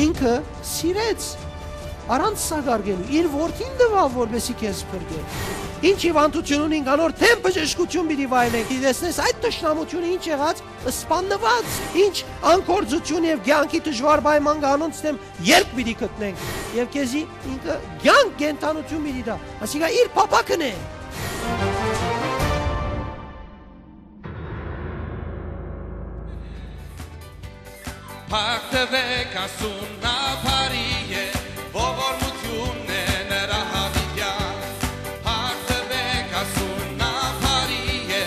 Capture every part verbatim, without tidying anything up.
ինքը սիրեց, առանց սակարկելու, իր որդին տուաւ, որպեսզի քեզ փրկէ։ Ինչ հիւանդութիւն ունինք, անոր դէմ բժշկութիւն պիտի վայելենք։ Դի տեսնես այդ թշնամութիւնը ինչ եղած, սպաննուած, ինչ անգործութիւն եւ կեանքի դժուար պայման կա, անոնց դէմ ելք պիտի գտնենք։ Եւ քեզի ինքը կեանք, կենդանութիւն պիտի տայ, ասիկա իր փափաքն է։ Փառք տուէք Աստուծուն, նա բարի է, ողորմութիւնն է նրա յաւիտեան։ Փառք տուէք Աստուծուն, նա բարի է,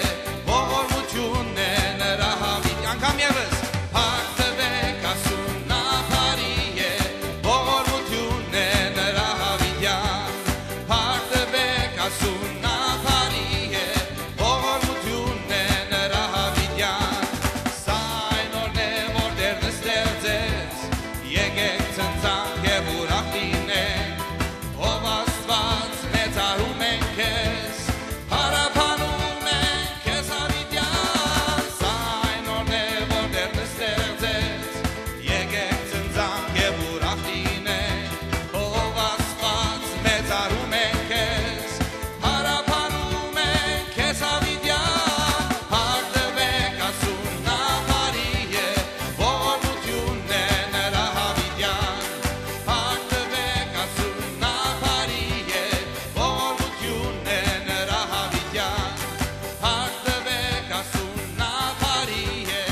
ողորմութիւնն է նրա յաւիտեան։ Անգամ եւս, փառք տուէք Աստուծուն, նա բարի է, ողորմութիւնն է նրա յաւիտեան։ Փառք տուէք Աստուծուն, նա բարի է, ողորմութիւնն է նրա յաւիտեան։ Սա այն օրն է, որ Տէրն ստեղծեց, եկեք ցնծանք եւ ուրախ լինենք, ով Աստուած, մեծարում ենք քեզ, փառաբանում ենք քեզ յաւիտեան։ Սա այն օրն է, որ Տէրն ստեղծեց, եկեք ցնծանք եւ ուրախ լինենք, ով Աստուած, մեծարում ենք քեզ, փառաբանում ենք քեզ յաւիտեան։ Փառք տուէք Աստուծուն, նա բարի է, ողորմութիւնն է նրա յաւիտեան։ Փառք տուէք Աստուծուն, նա բարի է, ողորմութիւնն է նրա յաւիտեան։ Փառք տուէք Աստուծուն, նա բարի է։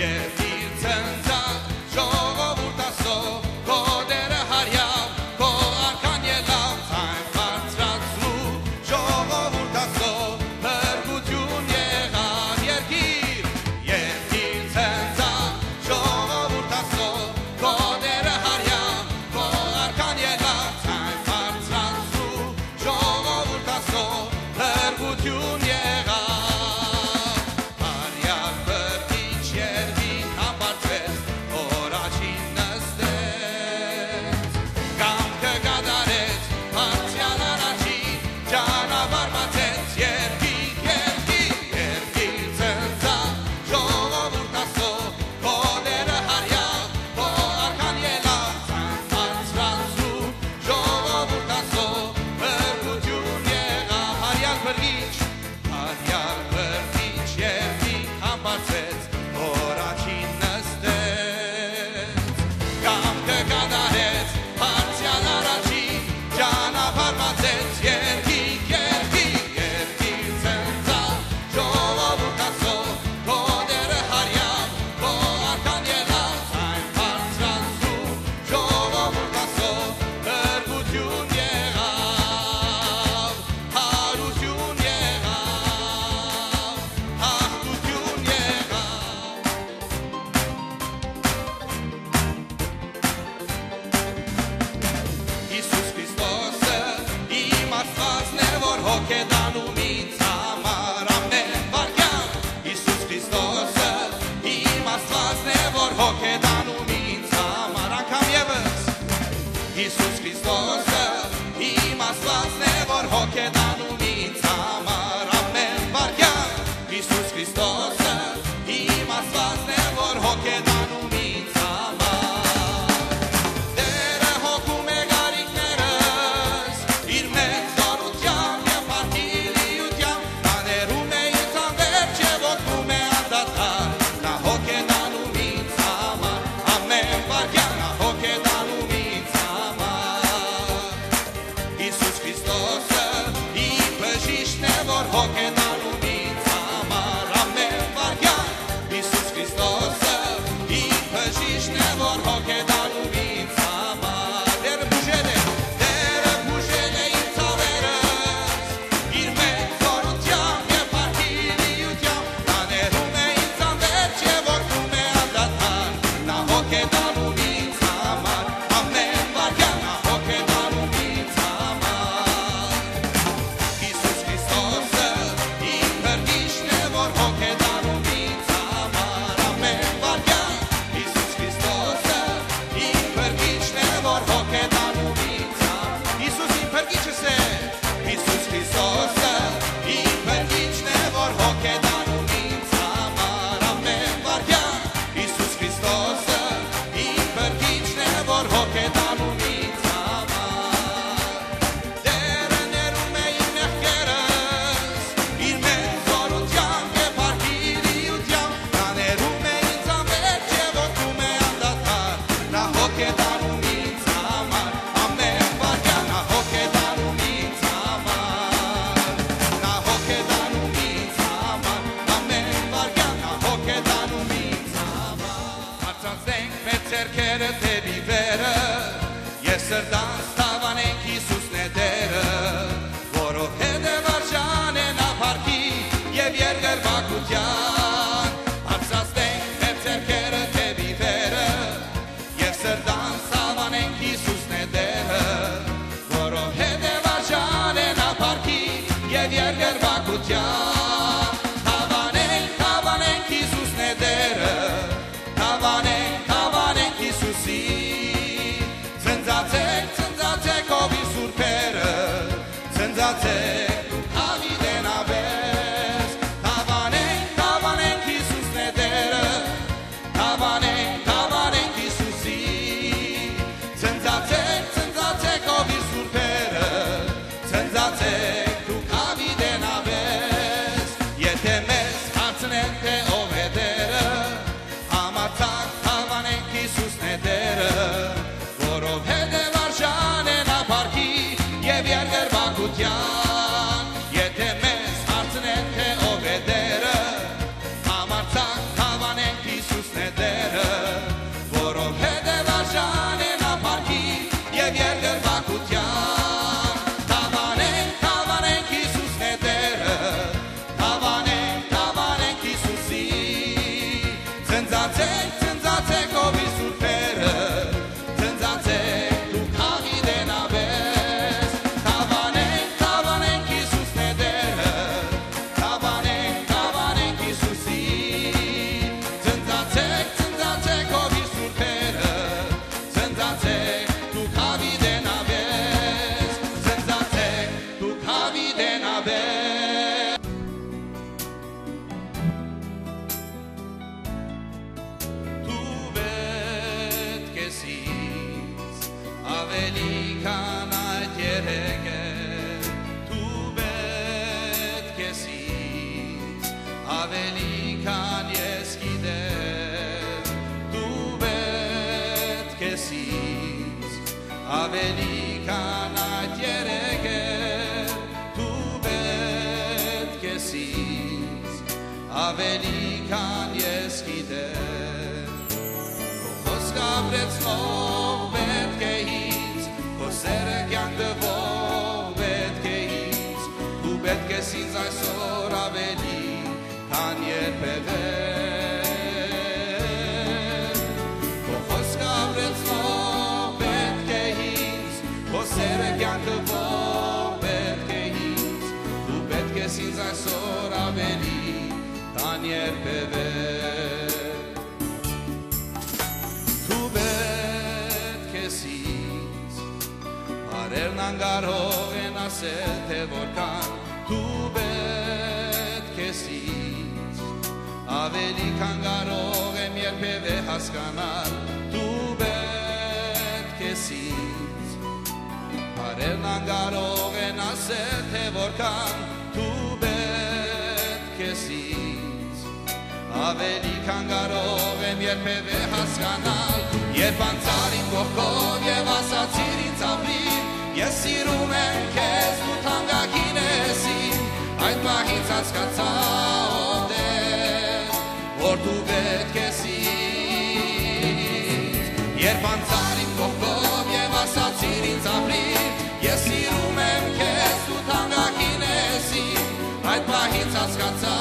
Երկիր ցնծաւ, ժողովուրդ Աստծոյ, քո Տէրը յարեաւ, քո արքան ելաւ, ձայն բարձրացրու, ժողովուրդ Աստծոյ, փրկութիւն եղաւ երկիր։ Երկիր ցնծաւ, ժողովուրդ Աստծոյ, քո Տէրը յարեաւ, քո արքան ելաւ, ձայն բարձրացրու, ժողովուրդ Աստծոյ, փրկութիւն եղաւ։ Արեալ փրկիչ երկինք համբարձվեց, օր աջին նստեց, կամքը կատարեց, բարձրեալ առաջին ճանապարհ բացեց, երկինք, երկինք, երկինք ցնծաւ, ժողովուրդ Աստծոյ, քո Տէրը յարեաւ, քո արքան ելաւ, ձայն բարձրացրու, ժողովուրդ Աստծոյ, փրկութիւն եղաւ, արեալ փրկիչ, արեալ փրկիչ երկինք համբարձեց, օր աջին նստեց, կամքը կատարեց, բարձրեալ առաջին ճանապարհ բացեց, երկինք, երկինք, երկինք ցնծաւ, ժողովուրդ Աստծոյ, քո Տէրը յարեաւ, քո արքան ելաւ, ձայն բարձրացրու, ժողովուրդ Աստծոյ, փրկութիւն եղաւ, յարութիւն եղաւ, յաղթութիւն եղաւ։ Յիսուս Քրիստոսը իմ Աստուածն է, որ հոգ է տանում ինձ համար ամէն վայրկեան։ Յիսուս Քրիստոսը իմ Աստուածն է, որ հոգ է տանում ինձ համար անգամ եւս։ Յիսուս Քրիստոսը իմ Աստուածն է, որ հոգ է տանում ինձ համար ամէն վայրկեան։ Յիսուս Քրիստոսը իմ Աստուածն է, որ հոգ է տանում ինձ համար։ Տէրը հոգում է կարիքներս, իր մեծ զօրութեամբ եւ փառքի լիութեամբ, նա ներում է ինձ անվերջ եւ օգնում է անդադար, նա հոգ է տանում ինձ համար, ամէն վայրկեան նա հոգ է տանում ինձ համար։ Յիսուս Քրիստոսը իմ բժիշկն է, որ հոգ է տանում ինձ համար ամէն վայրկեան։ Յիսուս Քրիստոսը իմ բժիշկն է, որ հոգ է տանում ինձ համար։ Տէրը բուժել է, Տէրը բուժել է իմ ցաւերս, իր մեծ զօրութեամբ եւ փառքի լիութեամբ, նա ներում է ինձ անվերջ եւ օգնում է անդադար, նա հոգ է տանում ինձ համար, ամէն վայրկեան նա հոգ է տանում ինձ համար։ Յիսուս Քրիստոսը իմ փրկիչն է, որ հոգ է տանում ինձ համար, ամէն վայրկեան։ Յիսուս Քրիստոսը իմ Դերը դէպի վերը, ես սրտանց դաւանենք Յիսուսն է Տերը, որովհետեւ արժանն է նա փառքի եւ երկրպագութեան։ Բարձրացնենք մեր ձեռքերը դէպի վերը, եւ սրտանց դաւանենք Յիսուսն է Տերը, որովհետեւ արժանն է նա փառքի եւ երկրպագութեան։ Դաւանենք, դաւանենք Յիսուսն է Տերը, դաւանենք, դաւանենք Յիսուսին։ Ցնծացեք, ցնծացեք, ով իր սուրբերը, ցնծացեք, դուք Դաւիդէն աբես։ Դաւանենք, դաւանենք Յիսուսն է Տերը, դաւանենք, դաւանենք Յիսուսին։ Ցնծացեք, ցնծացեք, ով իր սուրբերը, ցնծացեք, դուք Դավիդէն աբես։ Եթէ մեզ հարցնեն, թէ ով է Տերը, համարձակ դաւանենք Յիսուսն է Տերը, որովհետեւ արժանն է նա փառքի եւ երկրպագութեան։ Եթէ մեզ հարցնեն, թէ ով է Տերը, համարձակ դաւանենք Յիսուսն է Տերը, որովհետեւ արժանն է նա փառքի եւ երկրպագութեան։ Դաւանենք, դաւանենք Յիսուսն է Տերը, դաւանենք, դաւանենք Յիսուսին։ Ցնծացեք, ցնծացեք, ով իր սուրբերը, ցնծացեք, դուք Դավիդէն աբես։ Դաւանենք, դաւանենք Յիսուսն է Տերը, դաւանենք, դաւանենք Յիսուսին։ Ցնծացեք, ցնծացեք, ով իր սուրբերը, ցնծացեք, դուք Դավիդէն աբես։ Ցնծացեք, դուք Դավիդէն աբես։ Դու պէտք ես ինձ աւելի քան այդ երեքը, դու պէտք ես ինձ աւելի քան ես գիտեմ, դու պէտք ես ինձ աւելի քան այդ երեքը, դու պէտք ես ինձ աւելի քան ես գիտեմ։ Քո խօսքը ապրեցնող պէտք է ինձ, քո սերը կեանք տուող պէտք է ինձ, դու պէտք ես ինձ այսօր աւելի քան երբեւէ։ Քո խօսքը ապրեցնող պէտք է ինձ, քո սերը կեանքը պող պէտք է ինձ, դու պէտք ես ինձ այսօր աւելի քան երբեւէ։ Դու պէտք ես ինձ, բառերն անկարող են ասել, թէ որքան դու պէտք ես ինձ, աւելի քան կարող եմ երբեւէ հասկանալ, դու պէտք ես ինձ, բառերն անկարող են ասել, թէ որքան դու պէտք ես ինձ, աւելի քան կարող եմ երբեւէ հասկանալ, երբ անցար իմ կողքով եւ ասացիր ինձ. «Ապրիր, ես սիրում եմ քեզ, դու թանկագին ես իմ», այդ պահից հասկացայ, ով Տեր, որ դու պէտք ես ինձ։ Երբ անցար իմ կողքով եւ ասացիր ինձ. «Ապրիր, ես սիրում եմ քեզ, դու թանկագին ես իմ», այդ պահից հասկացայ,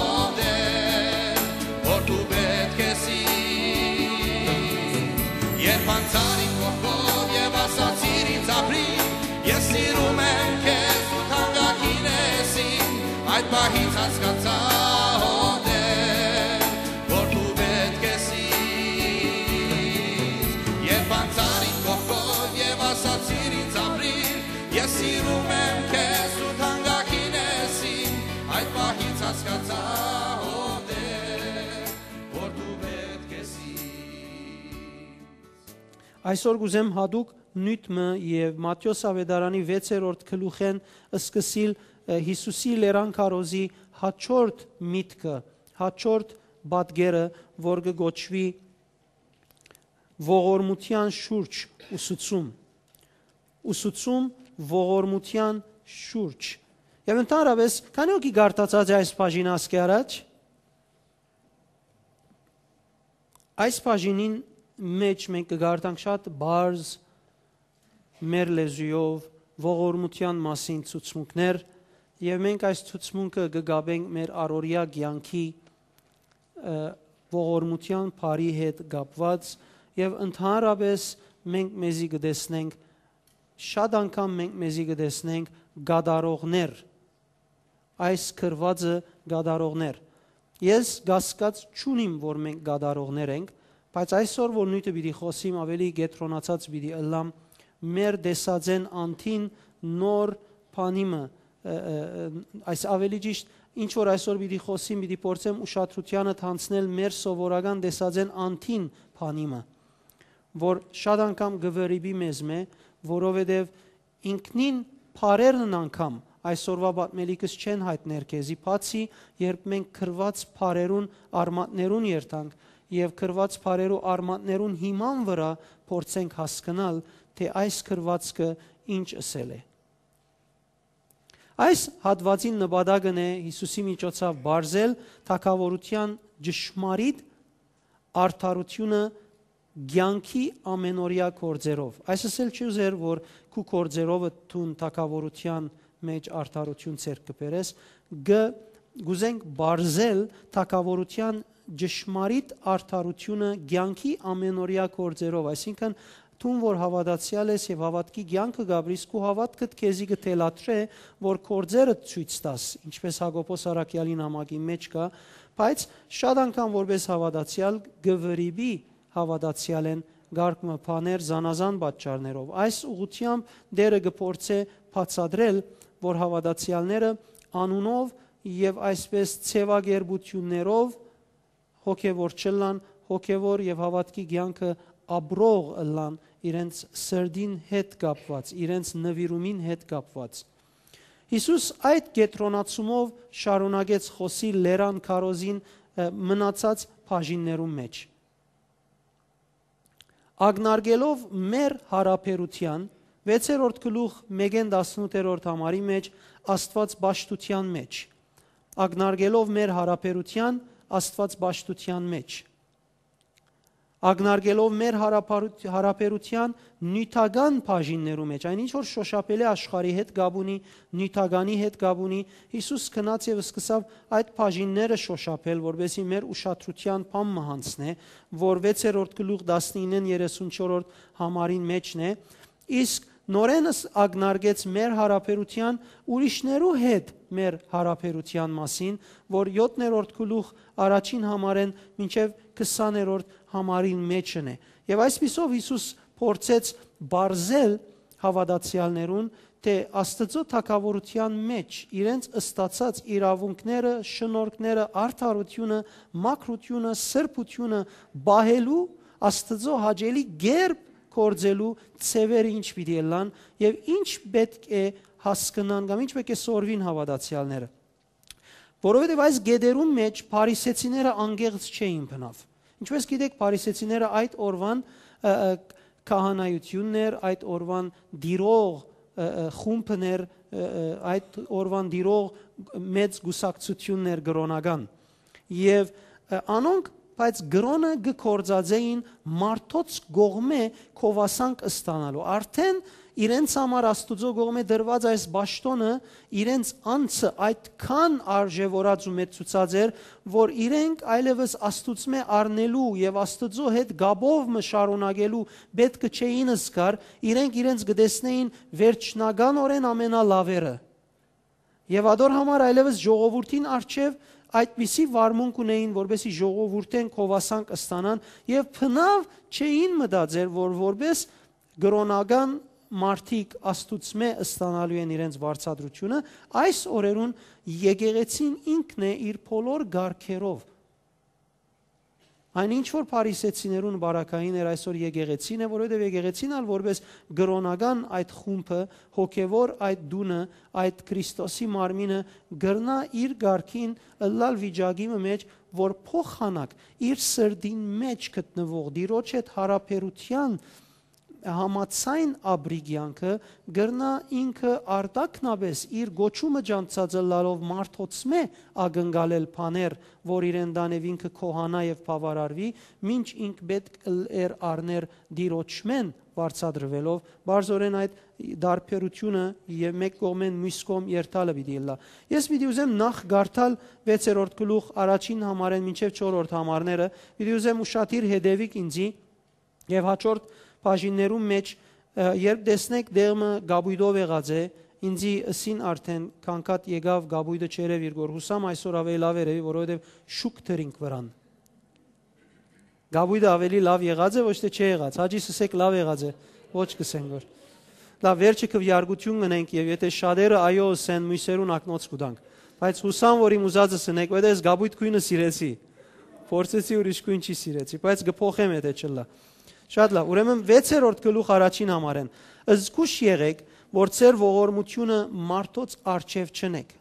ով Տեր, որ դու պէտք ես ինձ։ Երբ անցար իմ կողքով եւ ասացիր ինձ. «Ապրիր, ես սիրում եմ քեզ, դու թանկագին ես իմ», այդ պահից հասկացայ, ով Տեր, որ դու պէտք ես ինձ։ Երբ անցար իմ կողքով եւ ասացիր ինձ. «Ապրիր, ես սիրում եմ քեզ, դու թանկագին ես իմ», այդ պահից հասկացայ, ով Տեր, որ դու պէտք ես ինձ։ Այսօր կուզեմ յատուկ նիւթ մը եւ Մատթէոս աւետարանի վեցերորդ գլուխէն սկսիլ, ը, Յիսուսի լերան քարոզի յաջորդ միտքը, յաջորդ պատկերը, որ կը կոչուի ողորմութեան շուրջ ուսուցում։ Ուսուցում ողորմութեան շուրջ։ Եւ ընդհանրապես, քանի՞ հոգի կարդացած է այս բաժինը ասկէ առաջ։ Այս բաժինին Մեջ մենք կգարտանք շատ բարձ մեր լեզուով ողորմութեան մասին ցուցմունքներ, եւ մենք այս ցուցմունքը կգաբենք մեր առօրյա կյանքի, ը, ողորմութեան բարի հետ կապված, եւ ընդհանրապես մենք մեզի կտեսնենք, շատ անգամ մենք մեզի կտեսնենք կատարողներ, այս գրուածը կատարողներ։ Ես կասկած չունիմ, որ մենք կատարողներ ենք, բայց այսօր որ նիւթը պիտի խօսիմ, ավելի կեդրոնացած պիտի ըլլամ մեր տեսածեն անդին նոր բանի մը, ը, ը, ը, այս ավելի ճիշտ, ինչ որ այսօր պիտի խօսիմ, պիտի փորձեմ ուշադրութիանդ յանցնել մեր սովորական տեսածեն անդին բանի մը, որ շատ անգամ կը վրիպի մեզ մէ, որովհետեւ ինքնին բառերն անգամ այսօրվա պատմելիքս չեն յայտներ քեզի, բացի երբ մենք գրուած բառերուն արմատներուն երթանք եւ գրուած բառերու արմատներուն հիման վրայ փորձենք հասկնալ, թէ այս գրուածքը ինչ ըսել է։ Այս հատուածին նպատակն է Յիսուսի միջոցաւ բարձել թագաւորութեան ճշմարիտ արդարութիւնը կեանքի ամենօրեայ գործերով։ Այս ըսել չի ուզեր, որ քու գործերովը դուն թագաւորութեան մէջ արդարութիւն ձեռք կը բերես, գ-, գուզենք բարձել թագաւորութեան ճշմարիտ արդարութիւնը կեանքի ամենօրեայ գործերով, այսինքն դուն որ հաւատացեալ ես եւ հաւատքի կեանքը կ'ապրիս, քու հաւատքդ քեզի կը թելադրէ, որ գործերդ ցոյց տաս, ինչպէս Յակոբոս առաքեալին նամակին մէջ կայ, բայց շատ անգամ որպէս հաւատացեալ կը վրիպի հաւատացեալէն կարգ մը բաներ զանազան պատճառներով։ Այս ուղղութեամբ Տէրը կը փորձէ բացատրել, որ հաւատացեալները անունով եւ այսպէս ձեւակերպութիւններով հոգեւոր չըլլան, հոգեւոր եւ հաւատքի կեանքը ապրող ըլլան իրենց սրտին հետ կապուած, իրենց նուիրումին հետ կապուած։ Յիսուս այդ կեդրոնացումով շարունակեց խօսի լերան քարոզին, ը, մնացած բաժիններուն մէջ։ Ակնարկելով մեր յարաբերութեան, վեցերորդ գլուխ մէկէն տասնութերորդ համարի մէջ, Աստուած պաշտութեան մէջ, ակնարկելով մեր յարաբերութեան Աստուած պաշտութեան մէջ, ակնարկելով մեր յարաբարութ-, յարաբերութեան նիւթական բաժիններու մէջ, այն ինչ որ շոշափելի աշխարհի հետ կապ ունի, նիւթականի հետ կապ ունի, Յիսուս գնաց եւ սկսաւ այդ բաժինները շոշափել, որպեսզի մեր ուշադրութեան բան մը յանցնէ, որ վեցերորդ գլուխ տասնիննէն երեսունչորդ համարին մէջն է, իսկ նորէնս ակնարկեց մեր յարաբերութեան ուրիշներու հետ մեր յարաբերութեան մասին, որ յոթերորդ գլուխ առաջին համարէն մինչեւ քսաներորդ համարին մէջն է։ Եւ այսպիսով Յիսուս փորձեց բարձել հաւատացեալներուն, թէ Աստուծոյ թագաւորութեան մէջ իրենց ստացած իրաւունքները, շնորհքները, արդարութիւնը, մաքրութիւնը, սրբութիւնը պահելու, Աստուծոյ հաճելի կերպ գործելու ձեւերը ինչ պիտի ըլլան եւ ինչ պէտք է հասկնան կամ ինչ պէտք է սորվին հաւատացեալները։ Որովհետեւ այս գետերուն մէջ փարիսեցիները անկեղծ չէին բնաւ։ Ինչպէս գիտեք, փարիսեցիները այդ օրուան, ը, ը, քահանայութիւնն էր, այդ օրուան տիրող, ը, ը, խումբն էր, ը, ը, այդ օրուան տիրող մեծ կուսակցութիւնն էր կրօնական։ Եւ, ը, անոնք, բայց կրօնը կը գործածէին մարդոց կողմէ գովասանք ստանալու։ Արդէն իրենց համար Աստուծոյ կողմէ դրուած այս պաշտօնը իրենց անձը այդքան արժեւորած ու մեծցուցած էր, որ իրենք այլեւս Աստուծմէ առնելու եւ Աստուծոյ հետ կապով մը շարունակելու պէտքը չէին զգար, իրենք իրենց կը տեսնէին վերջնականօրէն ամենալաւերը։ Եւ ատոր համար այլեւս ժողովուրդին առջեւ այդպիսի վարմունք ունէին, որպեսզի ժողովուրդէն գովասանք ստանան եւ բնաւ չէին մտածեր, որ որպես կրօնական մարդիկ Աստուծմէ ստանալու են իրենց վարձատրութիւնը, այս օրերուն եկեղեցին ինքն է իր բոլոր գարքերով։ Այն ինչ որ փարիսեցիներուն բարակային էր, այսօր եկեղեցին է, որովհետեւ եկեղեցին ալ որպես կրօնական այդ խումբը, հոգեւոր այդ տունը, այդ Քրիստոսի մարմինը կրնայ իր գարքին ըլլալ վիճակի մը մէջ, որ փոխանակ իր սրտին մէջ գտնուող Տիրոջ հետ յարաբերութեան համաձայն ապրի կեանքը կրնայ ինքը արտաքնապէս իր կոչումը ճանչցած ըլլալով մարդոցմէ ակնկալել բաներ, որ իրեն տան եւ ինքը քոհանայ եւ բաւարարուի, մինչ ինք պէտք ըլ-, էր առներ Տիրոջմէն վարձատրուելով, պարզօրէն այդ տարբերութիւնը եւ մէկ կողմէն մյուս կողմ երթալը պիտի ըլլայ։ Ես պիտի ուզեմ նախ կարդալ վեցերորդ գլուխ առաջին համարէն մինչեւ չորրորդ համարները, պիտի ուզեմ ուշադիր հետեւիք ինձի, եւ հաջորդ բաժիններուն մէջ, ը, երբ տեսնէք դեղմը կապոյտով եղած է, ինձի ըսին արդէն, քանքատ եկաւ, կապոյտը չերեւ իր գոր, յուսամ այսօր աւելի լաւ երեւի, որովհետեւ շուք դրինք վրան։ Կապոյտը աւելի լաւ եղած է, ոչ թէ չէ եղած։ Հաճի, ըսեք, լաւ եղած է, ոչ կ'ըսեն գոր։ Լաւ, վերջը քվեարկութիւն կ'ընենք, եւ եթէ շատերը այո ըսեն, միւսերուն ակնոց կու տանք։ Բայց յուսամ, որ իմ ուզածս ընեք, որովհետեւ ես կապոյտ գոյնը սիրեցի։ Փորձեցի, ուրիշ գոյն չի սիրեցի, բայց կը փոխեմ, եթէ չըլլայ։ Շատ լաւ, ուրեմն վեցերորդ գլուխ առաջին համարէն. «Զգուշ եղէք, որ ձեր ողորմութիւնը մարդոց առջեւ չընեք,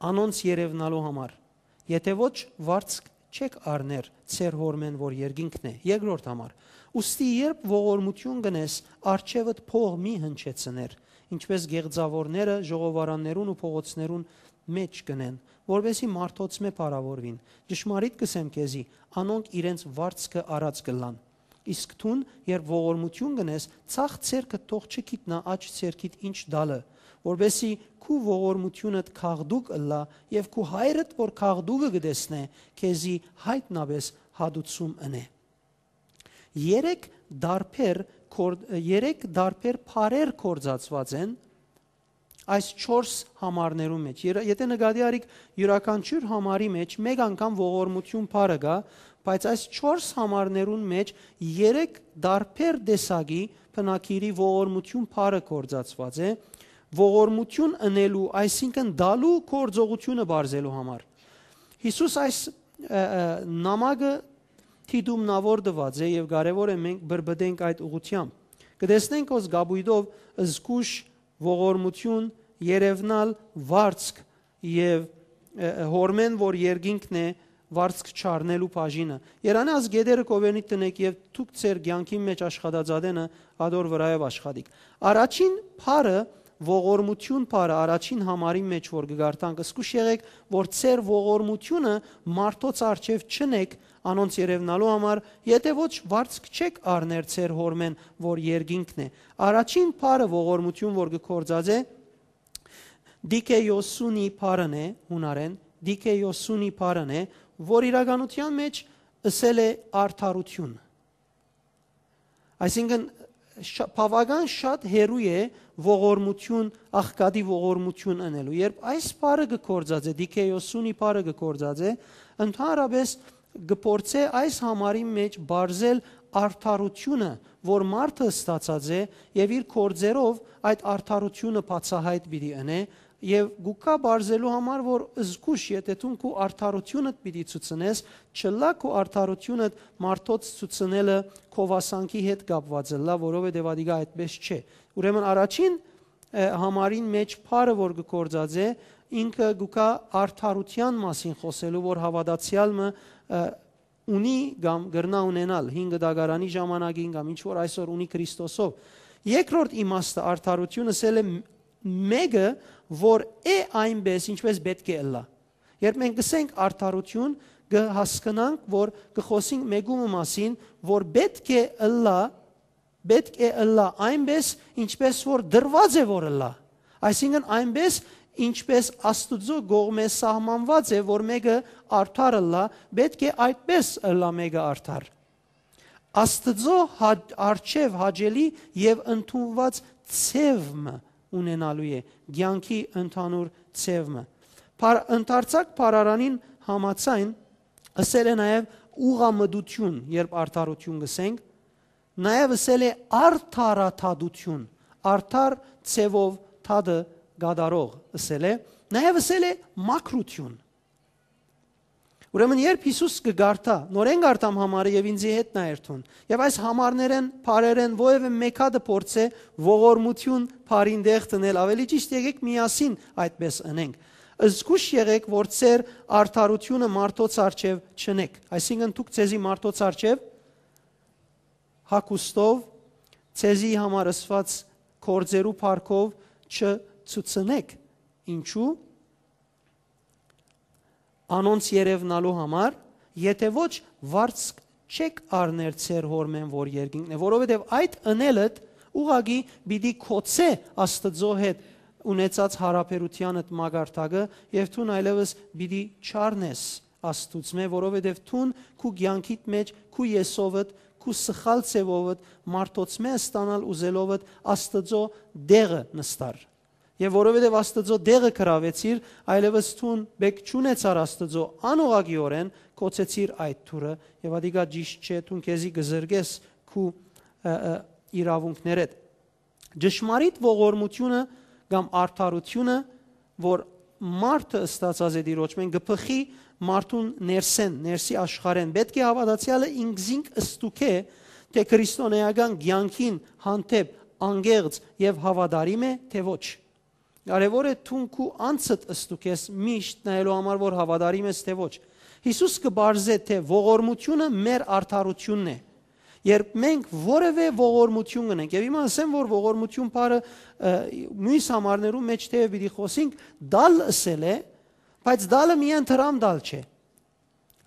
անոնց երեւնալու համար։ Եթէ ոչ, վարձք չէք առներ ձեր Հօրմէն, որ երկինքն է»։ Երկրորդ համար. «Ուստի երբ ողորմութիւն կ'ընես, առջեւդ փող մի հնչեցներ, ինչպէս գեղձաւորները ժողովարաններուն ու փողոցներուն մէջ կ'ընեն, որպէսզի մարդոցմէ փառաւորուին։ Ճշմարիտ կ'ըսեմ քեզի, անոնք իրենց վարձքը առած կ'ըլլան։ Իսկ դուն, երբ ողորմութիւն կ'ընես, ձախ ձեռքդ թող չգիտնայ աջ ձեռքիդ ինչ տալը, որպէսզի քու ողորմութիւնդ գաղտուկ ըլլայ, եւ քու Հայրդ, որ գաղտուկը կը տեսնէ, քեզի յայտնապէս հատուցում ընէ»։ Երեք տարբեր կոր-, երեք տարբեր բառեր կործածուած են այս չորս համարներուն մէջ։ Եթէ նկատի առիք, իւրաքանչիւր համարի մէջ մէկ անգամ ողորմութիւն բառը կայ, բայց այս չորս համարներուն մէջ երեք տարբեր տեսակի բնագիրի ողորմութիւն բառը կործածուած է, ողորմութիւն ընելու, այսինքն տալու գործողութիւնը բարձելու համար։ Յիսուս այս, ը, ը, նամակը դիտումնաւոր տուած է եւ կարեւոր է մենք բրբտենք այդ ուղղութեամբ։ Կը տեսնենք, որ կապոյտով զգուշ, ողորմութիւն, երեւնալ, վարձք եւ, ը, ը, Հօրմէն, որ երկինքն է, վարձք չառնելու բաժինը։ Երանի ազգետերը կովենիտ տնեք եւ դուք ձեր կեանքին մէջ աշխատած ատենը ատոր վրայով աշխատիք։ Առաջին բառը, ողորմութիւն բառը, առաջին համարին մէջ որ կը կարդանք, զգուշ եղեք, որ ձեր ողորմութիւնը մարդոց առջեւ չընեք, անոնց երեւնալու համար, եթէ ոչ, վարձք չէք առներ ձեր Հօրմէն, որ երկինքն է։ Առաջին բառը ողորմութիւն որ կը կործած է, դիքեյոսունի բառն է, յունարէն, դիքեյոսունի բառն է, որ իրականութեան մէջ ըսել է արդարութիւն։ Այսինքն, շա-, բաւական շատ հեռու է ողորմութիւն, աղքատի ողորմութիւն ընելու։ Երբ այս բառը կը կործած է, դիքեյոսունի բառը կը կործած է, ընդհանրապէս կը փորձէ այս համարի մէջ բարձել արդարութիւնը, որ մարդը ստացած է, եւ իր գործերով այդ արդարութիւնը բացահայտ պիտի ընէ, եւ գուկա բարձելու համար, որ զգուշ, եթէ դուն քու արդարութիւնդ պիտի ցուցնես, չլա քու արդարութիւնդ մարդոց ցուցնելը քովասանքի հետ կապված ըլլայ, որովհետեւ ադիգա այդպէս չէ։ Ուրեմն առաջին, ը, համարին մէջ բառը, որ կը կործած է, ինքը գուկա արդարութեան մասին խօսելու, որ հաւատացեալ մը, ը, ունի կամ կրնայ ունենալ հին կտակարանի ժամանակին կամ ինչ որ այսօր ունի Քրիստոսով։ Երկրորդ իմաստը արդարութիւն ըսել է մ-, մէկը, որ է այնպէս, ինչպէս պէտք է ըլլայ։ Երբ մենք կսենք արդարութիւն, կը հասկնանք, որ կը խօսենք մեկումը մասին, որ պէտք է ըլլայ, պէտք է ըլլայ այնպէս, ինչպէս որ դրուած է որ ըլլայ։ Այսինքն այնպէս, ինչպէս Աստուծոյ կողմէ սահմանուած է, որ մէկը արդար ըլլայ, պէտք է այդպէս ըլլայ մէկը արդար։ Աստուծոյ հա-, առջեւ հաճելի եւ ընդունուած ձեւ մը ունենալու է, կեանքի ընդհանուր ձեւ մը։ Բար-, ընդարձակ բառարանին համաձայն ըսել է նաեւ ուղղամտութիւն, երբ արդարութիւն կ'ըսենք, նաեւ ըսել է արդարադատութիւն, արդար ձեւով դատը կատարող ըսել է, նաեւ ըսել է մաքրութիւն։ Ուրեմն երբ Յիսուս կը կարդայ, նորէն կարդամ համարը եւ ինձի հետ նայ երթուն, եւ այս համարներէն, բառերէն որեւէ մէկ հատը փորձէ ողորմութիւն բառին տեղ դնել, ավելի ճիշդ, եկեք միասին այդպես ընենք։ Զգուշ եղեք, որ ձեր արդարութիւնը մարդոց առջեւ չընեք, այսինքն դուք ձեզի մարդոց առջեւ հագուստով, ձեզի համար ըսուած գործերու փառքով չցուցնէք։ Ինչու՞։ Անոնց երեւնալու համար, եթէ ոչ, վարձք չէք առներ ձեր Հօրմէն, որ երկինքն է, որովհետեւ այդ ընելդ ուղղակի պիտի գոցէ Աստուծոյ հետ ունեցած յարաբերութեանդ մակարդակը, եւ դուն այլեւս պիտի չառնես Աստուծմէ, որովհետեւ դուն քու կեանքիդ մէջ, քու եսովդ, քու սխալ ձեւովդ, մարդոցմէ ստանալ ուզելովդ Աստուծոյ դեղը նստար։ Եւ որովհետեւ Աստուծոյ դեղը գրաւեցիր, այլեւս դուն բեք չունեցար Աստուծոյ անուղղակիօրէն, գոցեցիր այդ դուռը, եւ ատիկա ճիշտ չէ, դուն քեզի կը զրկես քու, ը, ը, իրաւունքներէդ։ Ճշմարիտ ողորմութիւնը կամ արդարութիւնը, որ մարդը ստացած է Տիրոջմէն, կը բխի մարդուն ներսէն, ներսի աշխարհէն։ Պէտք է հաւատացեալը ինքզինք ստուգէ, թէ քրիստոնէական կեանքին հանդէպ անկեղծ եւ հաւատարիմ է, թէ ոչ։ Կարեւոր է դուն քու անձդ ստուգես միշտ նայելու համար, որ հաւատարիմ ես, թէ ոչ։ Յիսուս կը պարզէ, թէ ողորմութիւնը մեր արդարութիւնն է։ Երբ մենք որևէ ողորմութիւն կ'ընենք, եւ հիմա ասեմ, որ ողորմութիւն բառը, ը, միւս համարներու մէջ թէեւ պիտի խօսինք, տալ ըսել է, բայց տալը միայն դրամ տալ չէ։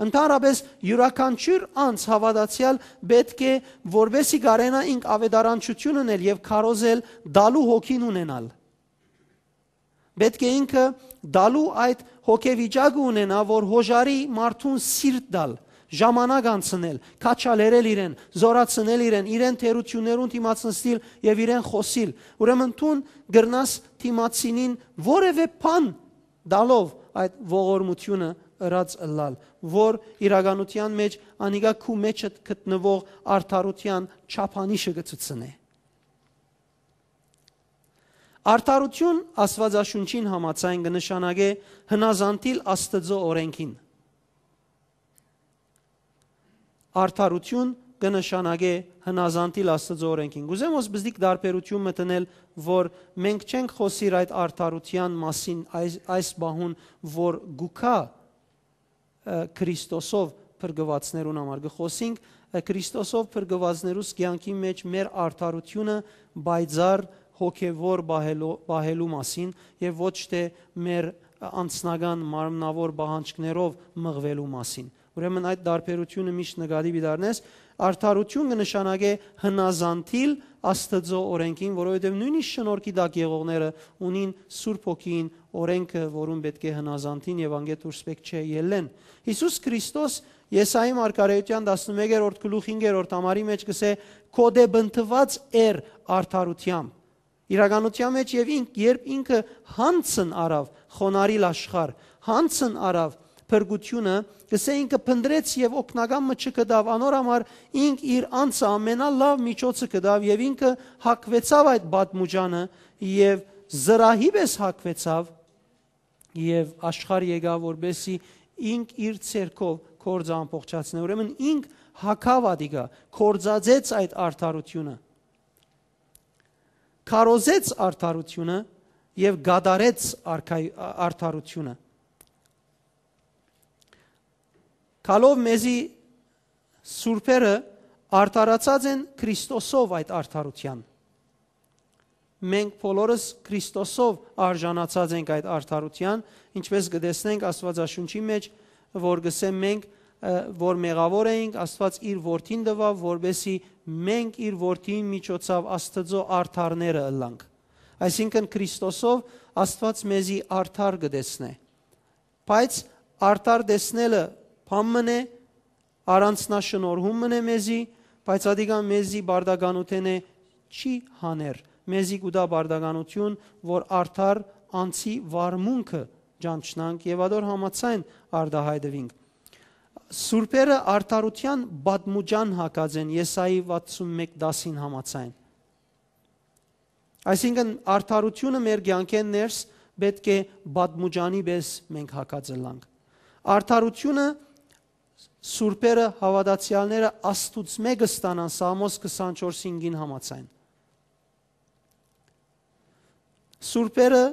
Ընդհանրապէս յուրաքանչիւր անձ հաւատացեալ պէտք է, որպեսզի կարենայ ինք աւետարանչութիւն ընել եւ քարոզել, տալու հոգին ունենալ։ Պէտք է ինքը տալու այդ հոգեվիճակը ունենայ, որ հոժարի մարդուն սիրտ տալ, ժամանակ անցնել, քաջալերել իրեն, զօրացնել իրեն, իրեն թերութիւններուն դիմաց նստիլ եւ իրեն խօսիլ։ Ուրեմն դուն կրնաս դիմացինին որեւէ բան տալով այդ ողորմութիւնը ըրած ըլլալ, որ իրականութեան մէջ անիկա քու մէջդ գտնուող արդարութեան չափանիշը կը ցուցնէ։ Արդարութիւն Աստուածաշունչին համաձայն կը նշանակէ հնազանդիլ Աստուծոյ օրէնքին։ Արդարութիւն կը նշանակէ հնազանդիլ Աստուծոյ օրէնքին։ Կ'ուզեմ հոս բզդիկ տարբերութիւն մտնել, որ մենք չենք խօսիր այդ արդարութեան մասին այս, այս պահուն, որ գուքա, ը, Քրիստոսով փրկուածներուն համար։ Կը խօսինք, ը, Քրիստոսով փրկուածներուս կեանքի մէջ մեր արդարութիւնը պայծառ հոգեվոր պահելու, պահելու մասին եւ ոչ թէ մեր անձնական մարմնաւոր պահանջքներով մղուելու մասին։ Ուրեմն այդ տարբերութիւնը միշտ նկատի պիտի առնես, արդարութիւն կը նշանակէ հնազանդիլ Աստուծոյ օրէնքին, որովհետեւ նոյնիսկ շնորհքի տակ եղողները ունին Սուրբ Հոգին օրէնքը, որուն պէտք է հնազանդին եւ անկէ դուրս պէտք չէ ելլեն։ Յիսուս Քրիստոս Եսայի մարգարէութեան տասնմեկերորդ գլուխ հինգերորդ համարի մէջ կ'ըսէ. «Քո դէ բնտուած էր արդարութեամբ»։ Իրականութեան մէջ եւ ինք, երբ ինքը յանձն առաւ խոնարհիլ աշխարհ, յանձն առաւ փրկութիւնը, կ'ըսէ, ինքը փնտռեց եւ օգնական մը չգտաւ, անոր համար ինք իր անձը ամենալաւ միջոցը գտաւ եւ ինքը հագուեցաւ այդ պատմուճանը եւ զրահի պէս հագուեցաւ եւ աշխարհ եկաւ, որպեսզի ինք իր ձեռքով գործը ամբողջացնէ։ Ուրեմն ինք հագաւ ատիկա, գործածեց այդ արդարութիւնը, քարոզեց արդարութիւնը եւ կատարեց արքայ-, արդարութիւնը։ Գալով մեզի սուրբերը արդարացած են Քրիստոսով այդ արդարութեան։ Մենք բոլորս Քրիստոսով արժանացած ենք այդ արդարութեան, ինչպես կը տեսնենք Աստուածաշունչի մէջ, որ կ'ըսէ մենք, ը, որ մեղաւոր էինք, Աստուած իր որդին տուաւ, որպեսզի մենք իր որդին միջոցով Աստուծոյ արդարները ըլլանք։ Այսինքն Քրիստոսով Աստուած մեզի արդար կը տեսնէ։ Բայց արդար տեսնելը բան մըն է, առանձնաշնորհում մըն է մեզի, բայց ատիկա մեզի պարտականութենէ չի հաներ, մեզի կու տայ պարտականութիւն, որ արդար անձի վարմունքը ճանչնանք եւ ատոր համաձայն արտայայտուինք։ Սուրբերը արդարութեան պատմուճան հագած են Եսայի վաթսունմեկ տասին համաձայն։ Այսինքն արդարութիւնը մեր կեանքէն ներս պէտք է պատմուճանի պէս մենք հագած ըլլանք։ Արդարութիւնը սուրբերը, հաւատացեալները Աստուծմէ կը ստանան Սաղմոս քսանչորս հինգին համաձայն։ Սուրբերը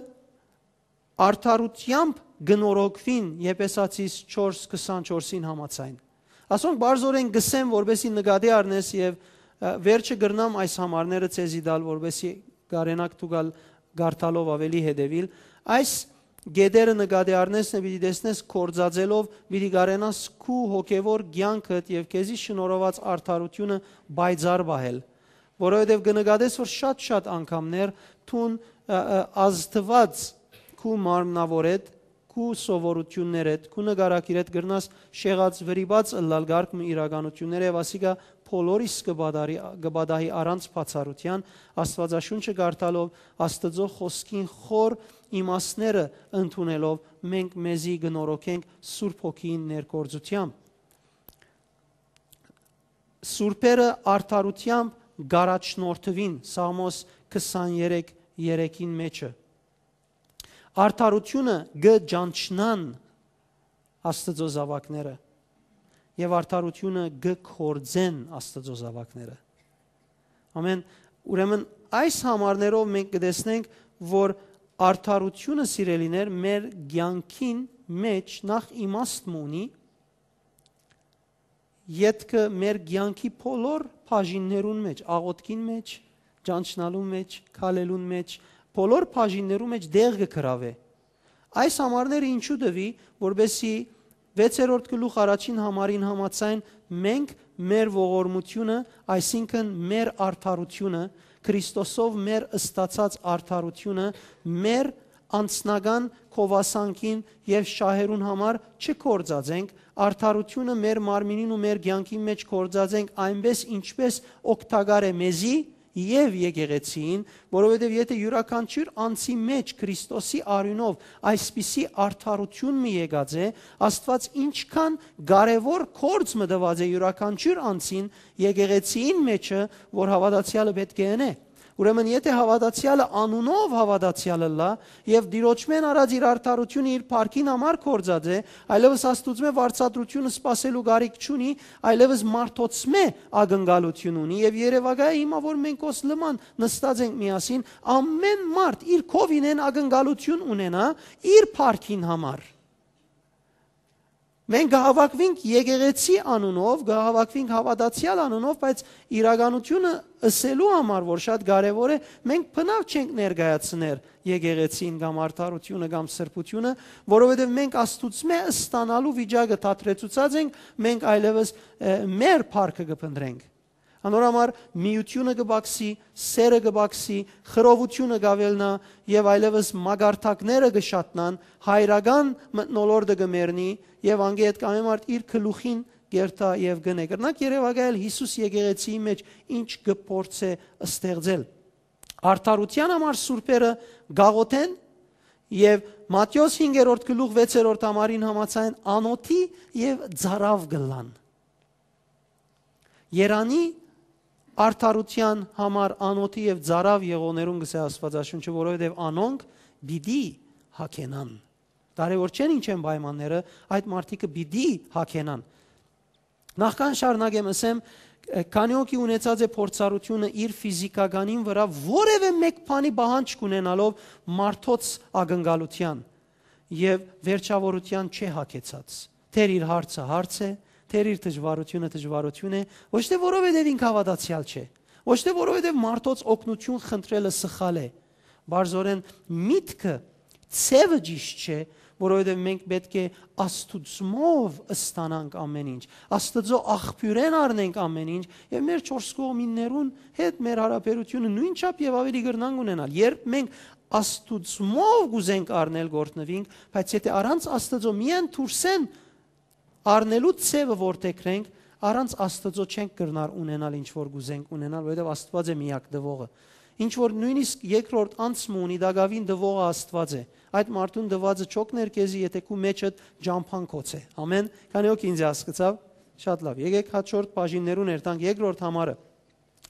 արդարութեամբ կը նորոգուին Եփեսացիս չորս քսանչորսին համաձայն։ Ասոնք պարզօրէն կ'ըսեմ, որպեսզի նկատի առնես եւ, Ա, վերջը կրնամ այս համարները ձեզի տալ, որպեսզի կարենաք դուք ալ կարդալով ավելի հետևել։ Այս գետերը նկատի առնեսնը պիտի տեսնես կործածելով, պիտի կարենաս քու հոգևոր կյանքդ եւ քեզի շնորհված արդարությունը պայծառ պահել, որովհետեւ կը նկատես, որ շատ-շատ անգամներ դուն, ա, ա, ազդուած քու մարմնավորեդ, քու սովորութիւններէդ, քու նկարագիրէդ կրնաս շեղած վրիպած ըլլալ կարգ մը իրականութիւնները եւ ասիկա բոլորիս կը պատահի, կը պատահի առանց բացառութեան, Աստուածաշունչը կարդալով, Աստուծոյ խօսքին խոր իմաստները ընդունելով, մենք մեզի կը նորոգենք Սուրբ Հոգիին ներգործութեամբ։ Սուրբերը արդարութեամբ կ'առաջնորդուին, Սաղմոս քսաներեք երեքին մէջը։ Արդարութիւնը կը ճանչնան Աստուծոյ զաւակները եւ արդարութիւնը կը կործեն Աստուծոյ զաւակները։ Ամեն, ուրեմն այս համարներով մենք կը տեսնենք, որ արդարութիւնը, սիրելիներ, մեր կեանքին մէջ նախ իմաստ մը ունի, ետքը մեր կեանքի բոլոր բաժիններուն մէջ, աղօթքին մէջ, ճանչնալուն մէջ, քալելուն մէջ, բոլոր բաժիններուն մէջ տեղ կը գրաւէ։ Այս համարները ինչու տուի, որպեսզի վեցերորդ գլուխ առաջին համարին համաձայն մենք մեր ողորմութիւնը, այսինքն մեր արդարութիւնը, Քրիստոսով մեր ստացած արդարութիւնը, մեր անձնական գովասանքին եւ շահերուն համար չգործածենք, արդարութիւնը մեր մարմինին ու մեր կեանքին մէջ գործածենք այնպէս, ինչպէս օգտակար է մեզի եւ եկեղեցիին, որովհետեւ եթէ իւրաքանչիւր անձի մէջ Քրիստոսի արիւնով այսպիսի արդարութիւն մը եկած է, Աստուած ինչքան կարեւոր գործ մը տուած է իւրաքանչիւր անձին եկեղեցիին մէջը, որ հաւատացեալը պէտք է ընէ։ Ուրեմն, եթէ հաւատացեալը անունով հաւատացեալ ըլլայ եւ Տիրոջմէն առած իր արդարութիւնը իր փառքին համար գործած է, այլեւս Աստուծմէ վարձատրութիւնը սպասելու կարիք չունի, այլեւս մարդոցմէ ակնկալութիւն ունի եւ երեւակայ է հիմա, որ մենք օս լման նստած ենք միասին, ամեն մարդ իր քովինէն ակնկալութիւն ունենայ իր փառքին համար։ Մենք կը հաւաքուինք եկեղեցի անունով, կը հաւաքուինք հաւատացեալ անունով, բայց իրականութիւնը ըսելու համար, որ շատ կարեւոր է, մենք բնաւ չենք ներկայացներ եկեղեցին կամ արդարութիւնը կամ սրբութիւնը, որովհետեւ մենք Աստուծմէ ստանալու վիճակը դադրեցուցած ենք, մենք այլեւս, ը, մեր փառքը կը փնտռենք։ Անոր համար միութիւնը կը բացի, սերը կը բացի, խռովութիւնը կ'աւելնայ եւ այլեւս մակարդակները կը շատնան, հայրական մթնոլորտը կը մեռնի եւ անկէ յետ կամէ մարդ իր գլուխին կերթայ եւ կ'ընէ։ Կրնանք երեւակայել Յիսուս եկեղեցիի մէջ ինչ կը փորձէ ստեղծել։ Արդարութեան համար սուրբերը կ'աղօթեն եւ Մատթէոս հինգերորդ գլուխ վեցերորդ համարին համաձայն անօթի եւ ծարաւ կ'ըլլան։ Երանի արդարութեան համար անօթի եւ ծարաւ եղողներուն կ'ըսէ Աստուածաշունչը, որովհետեւ անոնք պիտի հագենան։ Կարեւոր չեն ինչ են պայմանները, այդ մարդիկը պիտի հագենան։ Նախքան շարունակեմ, ըսեմ, ը, քանի հոգի ունեցած է փորձառութիւնը իր ֆիզիքականին վրայ որեւէ մէկ բանի պահանջ կ'ունենալով մարդոց ակնկալութեան եւ վերջաւորութեան չէ հագեցած։ Թեր իր հարցը հարց է, թեր իր դժվարութիւնը դժվարութիւն է, ոչ թէ որովհետեւ ինք հաւատացեալ չէ, ոչ թէ որովհետեւ մարդոց օգնութիւն խնդրելը սխալ է, բարձորեն միտքը, ձևը ճիշտ չէ, որովհետեւ մենք պէտք է Աստուծմով ստանանք ամեն ինչ, Աստուծոյ աղբիւրէն առնենք ամեն ինչ եւ մեր չորս կողմիններուն հետ մեր հարաբերութիւնը նոյնչափ եւ ավելի կրնանք ունենալ։ Երբ մենք Աստուծմով կ'ուզենք առնել, գործնուինք, բայց եթէ առանց Աստուծոյ միայն դուրսէն առնելու ձևը որդեգրենք, առանց Աստուծոյ չենք կրնար ունենալ ինչ որ կ'ուզենք ունենալ, որովհետեւ Աստուած է միակ տուողը։ Ինչ որ նոյնիսկ երկրորդ անձ մը ունի, տակաւին տուողը Աստուած է։ Այդ մարդուն տուածը չօգներ քեզի, եթէ քու մէջդ ճամբան գոց է։ Ամեն, քանի հոգի ինձ հասկցաւ, շատ լաւ։ Եկեք հաջորդ բաժիններուն երթանք, երկրորդ համարը։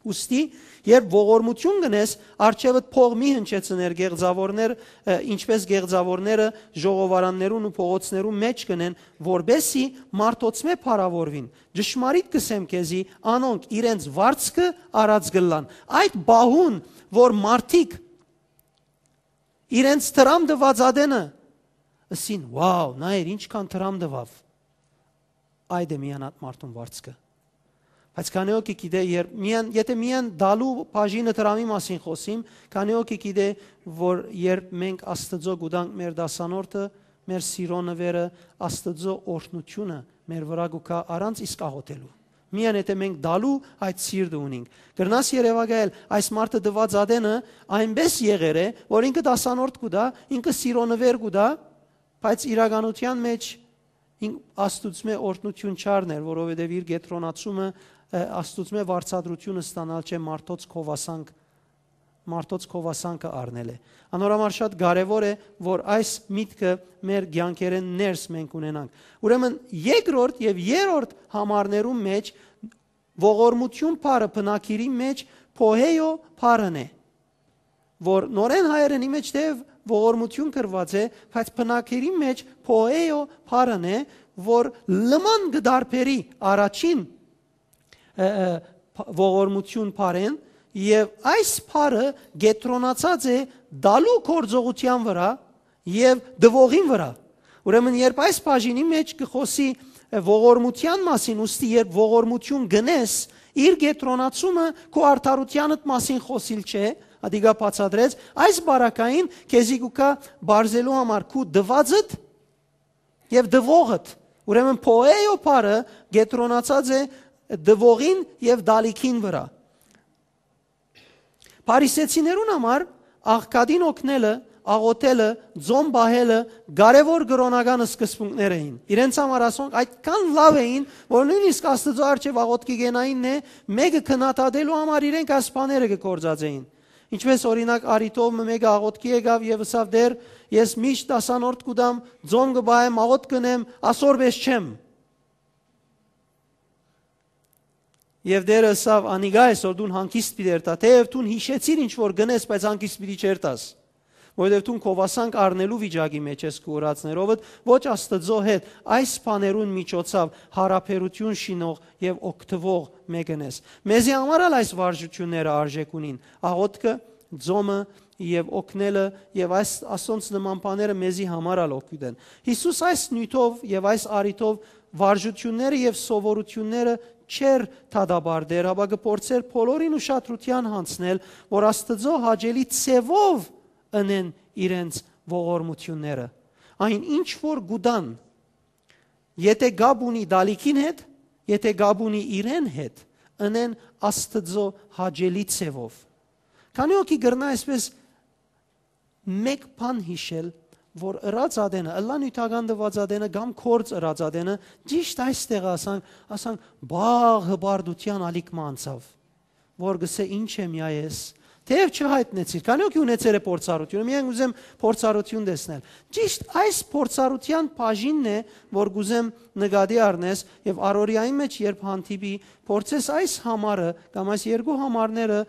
Ուստի, երբ ողորմութիւն կ'ընես, առջեւդ փող մի հնչեցներ գեղձաւորներ, ը, ինչպես գեղձաւորները ժողովարաններուն ու փողոցներուն մէջ կ'ընեն, որպեսզի մարդոցմէ փառաւորուին։ Ճշմարիտ կ'ըսեմ քեզի, անոնք իրենց վարձքը առած կ'ըլլան։ Այդ պահուն, որ մարդիկ իրենց դրամ տուած ատենը ըսին. «Վաու, նայեր, ինչքան դրամ տուաւ», այդ է միանատ մարդուն վարձքը։ Բայց քանի՞ հոգի գիտէ, երբ միայն, եթե միայն տալու բաժինը դրամի մասին խօսիմ, քանի՞ հոգի գիտէ, որ երբ մենք Աստուծոյ կու տանք մեր դասանորդը, մեր սիրո նուէրը, Աստուծոյ օրհնութիւնը մեր վրայ կու գայ առանց իսկ աղօթելու։ Միայն եթե մենք տալու այդ սիրտը ունինք։ Կրնաս երեւակայել, այս մարդը տուած ատենը այնպէս եղեր է, որ ինքը դասանորդ կու տայ, ինքը սիրո նուէր կու տայ, բայց իրականութեան մէջ ին-, Աստուծմէ օրհնութիւն չառներ, որովհետեւ իր կեդրոնացումը, ը, Աստուծմէ վարձատրութիւնը ստանալ չէ, մարդոց քովասանք, մարդոց քովասանքը առնել է։ Անոր համար շատ կարեւոր է, որ այս միտքը մեր կեանքերէն ներս մենք ունենանք։ Ուրեմն երկրորդ եւ երրորդ համարներու մէջ ողորմութիւն բառը բնագիրի մէջ փոհեյո բառն է, որ նորէն հայերէնի մէջ թէեւ ողորմութիւն գրուած է, բայց բնագիրի մէջ փոհեյո բառն է, որ լման կը տարբերի առաջին, ը, ը, փ-, ողորմութիւն բառէն, եւ այս բառը կեդրոնացած է տալու գործողութեան վրայ եւ տուողին վրայ։ Ուրեմն երբ այս բաժինի մէջ կը խօսի, ը, ողորմութեան մասին, ուստի երբ ողորմութիւն գնես, իր կեդրոնացումը քու արդարութեանդ մասին խօսիլ չէ, ատիկա բացատրեց, այս բարակային քեզի կու գայ բարձելու համար քու տուածդ եւ տուողդ։ Ուրեմն փոեյո բառը կեդրոնացած է տուողին եւ տալիքին վրայ։ Փարիսեցիներուն համար աղքատին օգնելը, աղօթելը, ծոմ պահելը կարեւոր կրօնական սկզբունքներ էին։ Իրենց համար ասոնք այդքան լաւ էին, որ նոյնիսկ Աստուծոյ առջեւ աղօթքի գենայինն է, մէկը քննադատելու համար իրենք այս բաները կը գործածէին։ Ինչպես օրինակ, առիթով մը մէկը աղօթքի եկաւ եւ ըսաւ. «Տէր, ես միշտ դասանորդ կու տամ, ծոմ կը պահեմ, աղօթք կ'ընեմ, ասոր պէս չեմ»։ Եւ Տէրը ըսաւ. «Անիկա այսօր դուն հանգիստ պիտի երթայ, թէեւ դուն յիշեցիր ինչ որ գնես, բայց հանգիստ պիտի չերթաս, որովհետեւ դուն քովասանք առնելու վիճակի մէջ ես քու ըրածներովդ, ոչ Աստուծոյ հետ այս բաներուն միջոցով յարաբերութիւն շինող եւ օգտուող մէկն ես»։ Մեզի համար ալ այս վարժութիւնները արժէք ունին. աղօթքը, ծոմը եւ օգնելը, եւ այս, ասոնց նման բաները մեզի համար ալ օգուտ են։ Յիսուս այս նիւթով եւ այս առիթով վարժութիւնները եւ սովորութիւնները չէր դատապարտեր, հապա կը փորձէր բոլորին ուշադրութեան յանձնել, որ Աստուծոյ հաճելի ձեւով ընեն իրենց ողորմութիւնները։ Այն ինչ որ կու տան, եթե կապ ունի տալիքին հետ, եթե կապ ունի իրեն հետ, ընեն Աստուծոյ հաճելի ձեւով։ Քանի՞ հոգի կրնայ այսպէս մէկ բան յիշել, որ ըրած ատենը, ըլլայ նիւթական տուած ատենը կամ գործ ըրած ատենը, ճիշտ այս տեղը ասանք, ասանք, բաղ հպարտութեան ալիք մը անցաւ, որ կ'ըսէ. «Ի՞նչ եմ յայ ես»։ Թէեւ չյայտնեցիր, քանի՞ հոգի ունեցեր է փորձառութիւնը, միայն ուզեմ փորձառութիւն տեսնել։ Ճիշտ այս փորձառութեան բաժինն է, որ կ'ուզեմ նկատի առնես, եւ առօրեային մէջ երբ հանդիպի, փորձես այս համարը կամ այս երկու համարները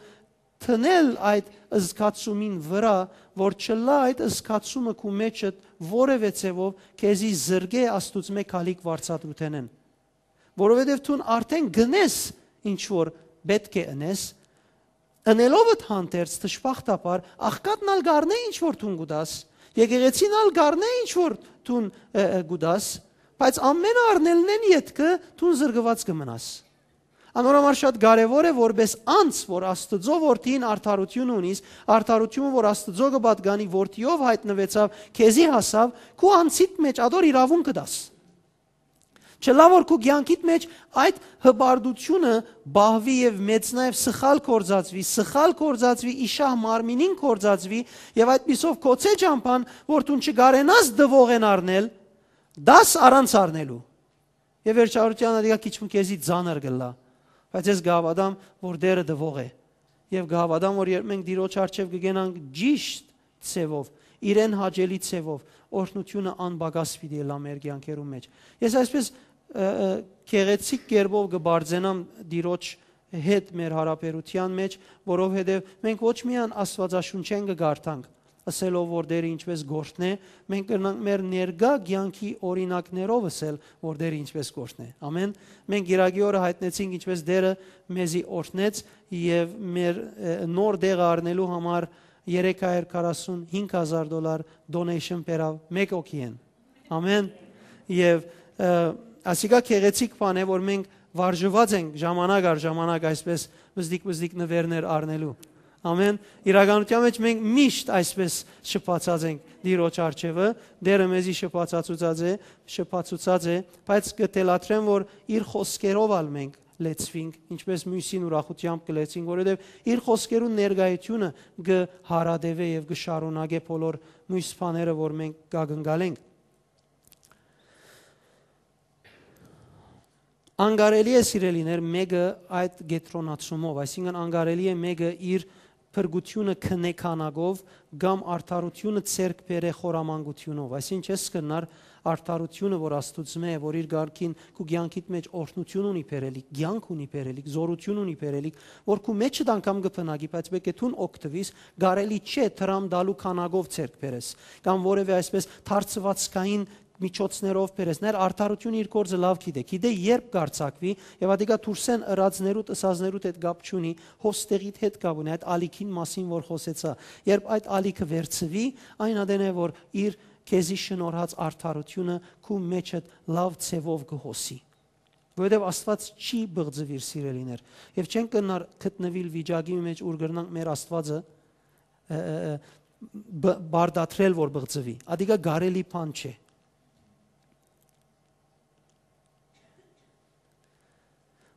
դնել այդ զգացումին վրայ, որ չըլլայ այդ զգացումը քու մէջդ որեւէ ձեւով քեզի զրկէ Աստուծմէ գալիք վարձատրութենէն։ Որովհետեւ դուն արդէն գնես ինչ որ պէտք է ընես, ընելովդ հանդերձ, դժբախտաբար, աղքատն ալ կ'առնէ ինչ որ դուն կու տաս, եկեղեցին ալ կ'առնէ ինչ որ դուն, ը, ը, կու տաս, բայց ամենը առնելնէն ետքը դուն զրկուած կը մնաս։ Անոր համար շատ կարեւոր է, որպէս անձ, որ Աստուծոյ որդիին արդարութիւնը ունիս, արդարութիւնը, որ Աստուծոյ կը պատկանի, որդիով յայտնուեցաւ, քեզի հասաւ, քու անձիդ մէջ ատոր իրաւունքը տաս։ Չլայ որ քու կեանքիդ մէջ այդ հպարտութիւնը պահուի եւ մեծնայ եւ սխալ գործածուի, սխալ գործածուի, իշահ մարմինին գործածուի, եւ այդպիսով գոցէ ճամբան, որ դուն չկարենաս տուողէն առնել, տաս առանց առնելու։ Եւ վերջավորութեան ատիկա քիչ մը քեզի ծանր կ'ըլլայ, բայց ես կը հաւատամ, որ Տէրը տուող է։ Եւ կը հաւատամ, որ երբ մենք Տիրոջ առջեւ կը գնանք ճիշտ ձեւով, իրեն հաճելի ձեւով, օրհնութիւնը անպակաս պիտի ըլլայ մեր կեանքերուն մէջ։ Ես այսպես, ը, ը, գեղեցիկ կերպով կը բարձենամ Տիրոջ հետ մեր յարաբերութեան մէջ, որովհետեւ մենք ոչ միայն Աստուածաշունչէն կը կարդանք, ըսելով որ Տէրը ինչպես կ'օրհնէ, մենք կրնանք մեր ներկայ կեանքի օրինակներով ըսել, որ Տէրը ինչպես կ'օրհնէ։ Ամեն։ Մենք Կիրակի օրը յայտնեցինք ինչպես Տէրը մեզի օրհնեց եւ մեր, ը, նոր տեղը առնելու համար երեք հարիւր քառասուն հինգ հազար դոլար donation բերաւ մէկ հոգիէն։ Ամեն։ Եւ, ը, ասիկա գեղեցիկ բան է, որ մենք վարժուած ենք ժամանակ առ ժամանակ այսպես վզդիկ-վզդիկ նվերներ առնելու։ Ամեն իրականության մեջ մենք միշտ այսպես շփացած ենք Տիրոջ առջեւը, Տերը մեզի շփացուցած է, շփացուցած է, բայց կը թելադրեմ, որ իր խօսքերով ալ մենք լեցուինք, ինչպես մյուսին ուրախությամբ կը լեցուինք, որովհետեւ իր խօսքերուն ներկայությունը կը հարատեւէ եւ կը շարունակէ բոլոր մյուս բաները, որ մենք կակնկալենք։ Անկարելի է, սիրելիներ, մեկը այդ կեդրոնացումով, այսինքն անկարելի է մեկը իր փրկությունը քննի քանակով կամ արդարությունը ձեռք բերե խորամանկութիւնով։ Այսինքն, չես կրնար արդարությունը, որ Աստուծմէ է, որ իր կարգին քու կեանքիդ մեջ օրհնություն ունի բերելիք, կեանք ունի բերելիք, զօրություն ունի բերելիք, որ քու մեջդ անգամ կը բնակի, բայց պէտք է դուն օգտուիս, կարելի չէ դրամ տալու քանակով ձեռք բերես, կամ որևէ այսպես թարցուածքային միջոցներով բերես։ Ներ արդարությունը իր գործը լավ գիտէ, գիտէ երբ կարձակվի, եւ ատիկա դուրսէն ըրածներուդ, ըսածներուդ հետ կապ չունի, հոս տեղիդ հետ կապ ունի, այդ ալիքին մասին որ խօսեցայ։ Երբ այդ ալիքը վերցուի, այն ատեն է, որ իր քեզի շնորհած արդարությունը քու մեջդ լավ ձևով կը հոսի։ Որովհետեւ Աստուած չի բղծուիր, սիրելիներ, եւ չենք կրնար գտնուիլ վիճակի մեջ, ուր կրնանք մեր Աստուածը, ը, ը, ը, բ-, բարդատրել, որ բղծուի։ Ատիկա կարելի բան չէ։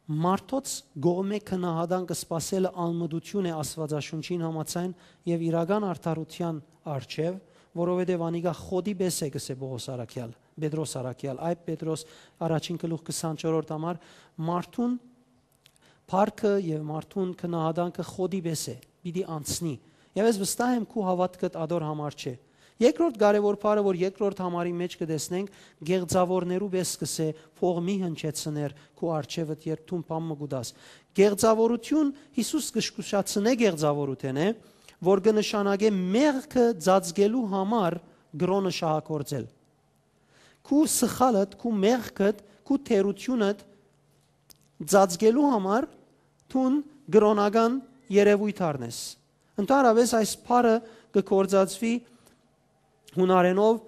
Մարդոց կողմէ գնահատանքը սպասելը անմտություն է Աստուածաշունչին համաձայն եւ իրական արդարութեան առջեւ, որովհետեւ անիկա խոտի պէս է, կսէ Պողոս առաքեալ, Պետրոս առաքեալ, այբ Պետրոս առաջին գլուխ քսանչորրորդ համար, մարդուն փառքը եւ մարդուն գնահատանքը խոտի պէս է, պիտի անցնի։ Եւ ես վստահ եմ, քու հաւատքդ ատոր համար չէ։ Երկրորդ կարեւոր բառը, որ երկրորդ համարի մեջ կը տեսնենք, գեղձաւորներու պէս կսէ փող մի հնչեցներ քու առջեւդ, երբ դուն բան մը կու տաս։ Գեղձաւորություն, Յիսուս կը զգուշացնէ գեղձաւորութենէ, որ կը նշանակէ մեղքը ծածկելու համար կրօնը շահագործել։ Քու սխալդ, քու մեղքդ, քու թերությունդ ծածկելու համար դուն կրօնական երեւոյթ առնես։ Ընդհանրապես այս բառը կը գործածուի հունարենով,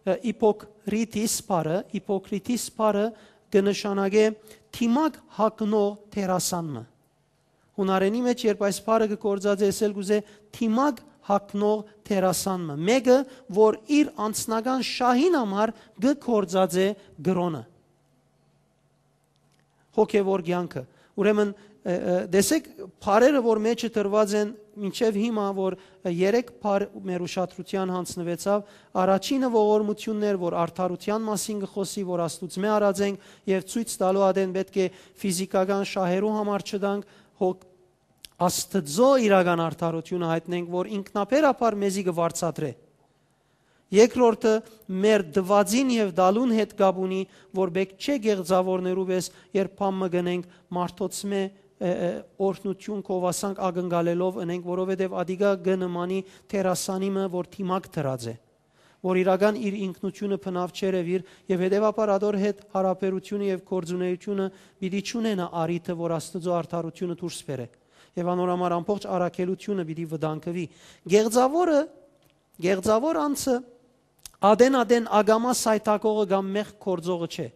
ը, իպոկրիտիս բառը, իպոկրիտիս բառը կը նշանակէ դիմակ հագնող դերասան մը։ Հունարենի մեջ երբ այս բառը կը գործածէ, ես ալ կ'ուզէ դիմակ հագնող դերասան մը, մեկը, որ իր անձնական շահին համար կը գործածէ կրօնը, հոգեվոր կեանքը։ Ուրեմն, ը, ը, տեսեք, բառերը, որ մեջը դրուած են, մինչեւ հիմա, որ, ը, երեք բառ մեր ուշադրութեան յանձնուեցաւ, առաջինը ողորմութիւններ, որ արդարութեան մասին կը խօսի, որ Աստուծմէ առած ենք, եւ ցոյց տալու ատեն պէտք է ֆիզիքական շահերու համար չտանք, հոգ-, Աստուծոյ իրական արդարութիւնը յայտնենք, որ ինքնաբերաբար մեզի կը վարձատրէ։ Երկրորդը, մեր տուածին եւ տալուն հետ կապ ունի, որ պէտք չէ գեղձաւորներու պէս, երբ բան մը կ'ընենք, մարդոցմէ, ը, ը, օրհնութիւն, գովասանք ակնկալելով ընենք, որովհետեւ ատիկա կը նմանի դերասանի մը, որ դիմակ դրած է, որ իրական իր ինքնութիւնը բնաւ չերեւիր, եւ հետեւաբար ատոր հետ յարաբերութիւնը եւ գործունեութիւնը պիտի չունենայ առիթը, որ Աստուծոյ արդարութիւնը դուրս բերէ, եւ անոր համար ամբողջ առաքելութիւնը պիտի վտանգուի։ Գեղձաւորը, գեղձաւոր անձը ատեն-ատեն ակամայ սայթակողը կամ մեղք գործողը չէ։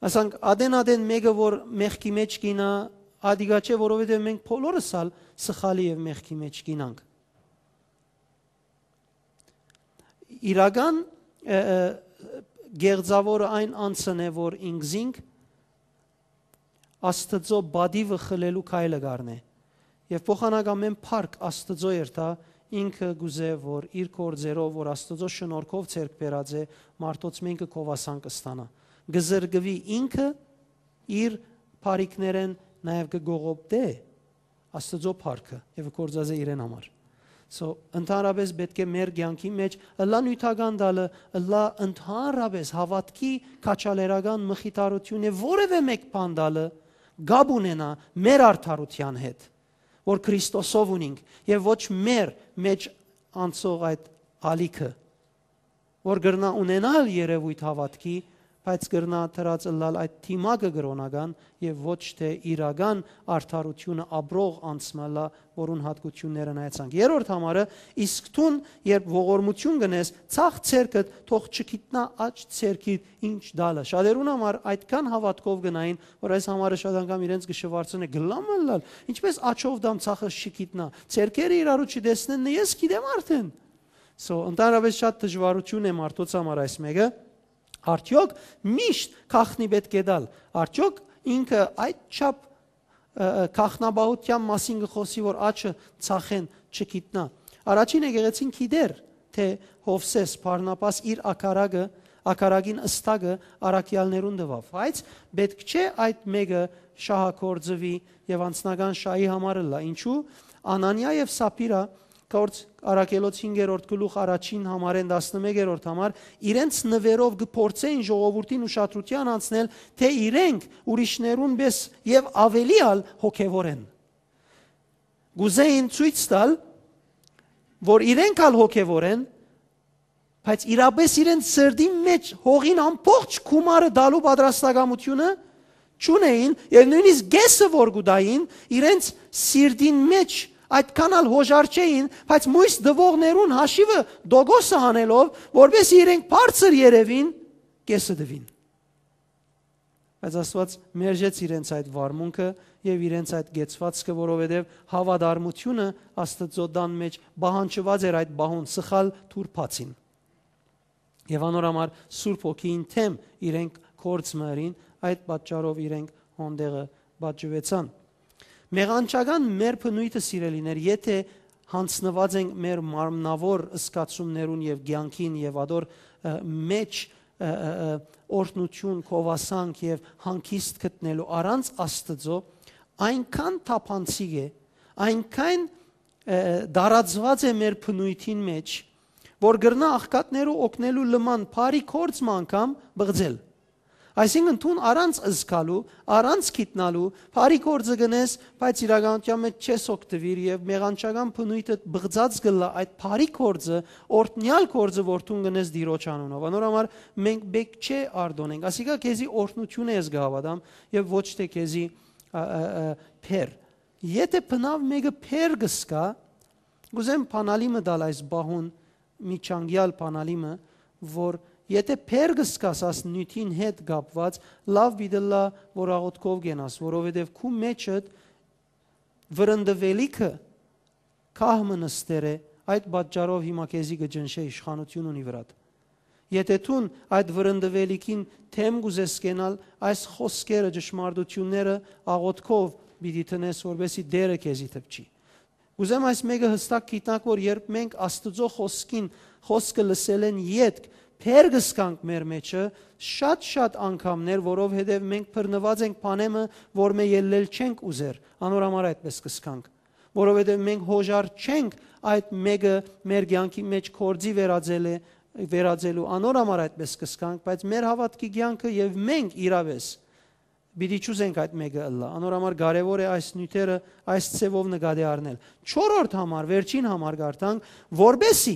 Ասենք, ատեն-ատեն մեկը, որ մեղքի մեջ կ'իյնայ, ատիկա չէ, որովհետեւ մենք բոլորս ալ սխալի եւ մեղքի մեջ կ'իյնանք։ Իրական, ը, ը, գեղձաւորը այն անձն է, որ ինքզինք Աստուծոյ պատիւը խլելու քայլը կ'առնէ։ Եւ փոխանակ ամէն փառք Աստուծոյ երթայ, ինքը կ'ուզէ, որ իր գործերով, որ Աստուծոյ շնորհքով ձեռք բերած է, մարդոց մէնքը գովասան կը ստանայ։ Կը զրկուի ինքը իր բարիքներէն, նաեւ կը կողոպտէ Աստուծոյ փառքը եւ կը գործածէ իրեն համար։ So, ընդհանրապես պէտք է մեր կեանքի մեջ ըլլայ նիւթական տալը, ըլլայ ընդհանրապես հաւատքի քաջալերական մխիթարութիւնը, որևէ մէկ բան տալը կապ ունենայ մեր արդարութեան հետ, որ Քրիստոսով ունինք, եւ ոչ մեր մեջ անցող այդ ալիքը, որ կրնայ ունենալ երեւոյթ հաւատքի, բայց կրնայ դրած ըլլալ այդ դիմակը կրօնական եւ ոչ թէ իրական արդարութիւնը ապրող անձ մը ըլլայ, որուն յատկութիւնները նայեցանք։ Երրորդ համարը, իսկ դուն, երբ ողորմութիւն կ'ընես, ձախ ձեռքդ թող չգիտնայ աջ ձեռքիդ ինչ տալը։ Շատերուն համար այդքան հաւատքով կը նային, որ այս համարը շատ անգամ իրենց կը շուարցնէ, «Կ'ըլլա՞մ ըլլալ, ինչպէս աջով տամ, ձախս չգիտնայ, ձեռքերը իրարու չտեսնեն, նե ես գիտեմ արդէն»։ So, ընդհանրապես շատ դժուարութիւն է մարդոց համար այս մէկը։ Արդեօք միշտ գաղտնի պէտք է տալ։ Արդեօք ինքը այդ չափ, ը, ը, գաղտնապահութեան մասին կը խօսի, որ աջը ձախէն չգիտնայ։ Առաջին եկեղեցին գիտէր, թէ Յովսէս Բարնաբաս իր ակարակը, ակարակին ըստակը առաքեալներուն տուաւ, բայց պէտք չէ այդ մէկը շահագործուի եւ անձնական շահի համար ըլլայ։ Ինչու՞։ Անանիա եւ Սապիրա, Գործ առաքելոց հինգերորդ գլուխ, առաջին համարէն տասնմեկերորդ համար, իրենց նուէրով կը փորձէին ժողովուրդին ուշադրութեան անցնել, թէ իրենք ուրիշներուն պէս եւ ավելի ալ հոգեւոր են։ Կ'ուզէին ցոյց տալ, որ իրենք ալ հոգեւոր են, բայց իրապէս իրենց սրտին մէջ հողին ամբողջ գումարը տալու պատրաստակամութիւնը չունէին, եւ նոյնիսկ կէսը որ կու տային, իրենց սիրտին մէջ այդքան ալ յօժար չէին, բայց մոյս տուողներուն հաշիվը տոկոսը հանելով, որպէս իրենք բարձր երեւին, կէսը տուին։ Բայց Աստուած մերժեց իրենց այդ վարմունքը եւ իրենց այդ կեցուածքը, որովհետեւ հաւատարմութիւնը Աստուծոյ տան մէջ պահանջուած էր այդ պահուն, սխալ դուռ բացին։ Եւ անոր համար Սուրբ Հոգիին դէմ իրենք գործ մը ըրին, այդ պատճառով իրենք հոն տեղը պատժուեցան։ Մեղանչական մեր բնոյթը, սիրելիներ, եթէ յանձնուած ենք մեր մարմնաւոր զգացումներուն եւ կեանքին եւ ատոր, ը, մէջ, ը, ը, ը, օրհնութիւն, գովասանք եւ հանգիստ գտնելու առանց Աստուծոյ, այնքան թափանցիկ է, այնքան, ը, ը, տարածուած է մեր բնոյթին մէջ, որ կրնայ աղքատներու օգնելու լման բարի գործ մը անգամ բղծել։ Այսինքն, դուն առանց զգալու, առանց գիտնալու, բարի գործը կ'ընես, բայց իրականութեան մէջ չես օգտուիր եւ մեղանչական բնոյթդ բղծած կ'ըլլայ այդ բարի գործը, օրհնեալ գործը, որ դուն կ'ընես Տիրոջ անունով։ Անոր համար մենք պէտք չէ արտօնենք։ Ասիկա քեզի օրհնութիւն է, ես կը հաւատամ, եւ ոչ թէ քեզի, ա, ա, ա, բեռ։ Եթէ բնաւ մէկը բեռ կը զգայ, կ'ուզեմ բանալի մը տալ այս պահուն, միջանկեալ բանալի մը, որ եթէ բեռ կը զգաս աս նիւթին հետ կապուած, լաւ պիտի ըլլայ որ աղօթքով կենաս, որովհետեւ քու մէջդ վրընդուելիքը գահ մը նստեր է, այդ պատճառով հիմա քեզի կը ճնշէ իշխանութիւն ունի վրադ։ Եթէ դուն այդ վրընդուելիքին դէմ կ'ուզես կենալ, այս խօսքերը, ճշմարտութիւնները աղօթքով պիտի դնես, որպէսզի Տէրը քեզի դպչի։ Կ'ուզեմ այս մէկը յստակ գիտնաք, որ երբ մենք Աստուծոյ խօսքին, խօսքը լսելէն ետք բեռ կը զգանք մեր մէջը, շատ-շատ անգամներ, որովհետեւ մենք բռնուած ենք բանէ մը, որ մը ելլել չենք ուզեր, անոր համար այդպէս կը զգանք, որովհետեւ մենք յօժար չենք այդ մէկը մեր կեանքի մէջ գործի վերածել է, վերածելու, անոր համար այդպէս կը զգանք, բայց մեր հաւատքի կեանքը եւ մենք իրապէս պիտի չուզենք այդ մէկը ըլլայ։ Անոր համար կարեւոր է այս նիւթերը այս ձեւով նկատի առնել։ Չորրորդ համար, վերջին համար կարդանք, որպէսզի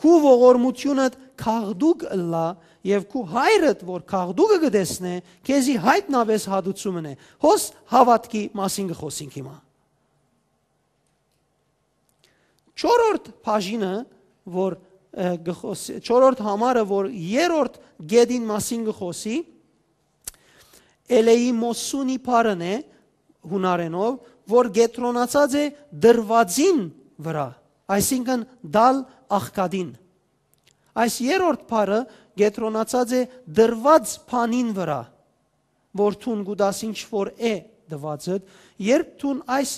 քու ողորմութիւնդ գաղտուկ ըլլայ եւ քու հայրդ, որ գաղտուկը կը տեսնէ, քեզի յայտնապէս հատուցում ընէ։ Հոս հաւատքի մասին կը խօսենք հիմա։ Չորրորդ բաժինը, որ, ը, կը խօս-, չորրորդ համարը, որ երրորդ գետին մասին կը խօսի, էլեիմոսունի բառն է, յունարէնով, որ կեդրոնացած է դրուածին վրայ, այսինքն՝ տալ աղքատին։ Այս երրորդ բառը կեդրոնացած է դրուած բանին վրայ, որ դուն կու տաս ինչ որ է տուածդ, երբ դուն այս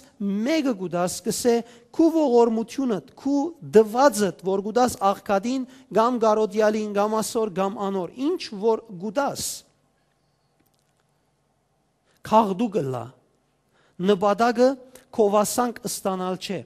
մէկը կու տաս, կ'ըսէ, քու ողորմութիւնդ, քու տուածդ, որ կու տաս աղքատին, կամ կարօտեալին, կամ ասոր, կամ անոր, ինչ որ կու տաս, գաղտուկ ըլլայ։ Նպատակը գովասանք ստանալ չէ։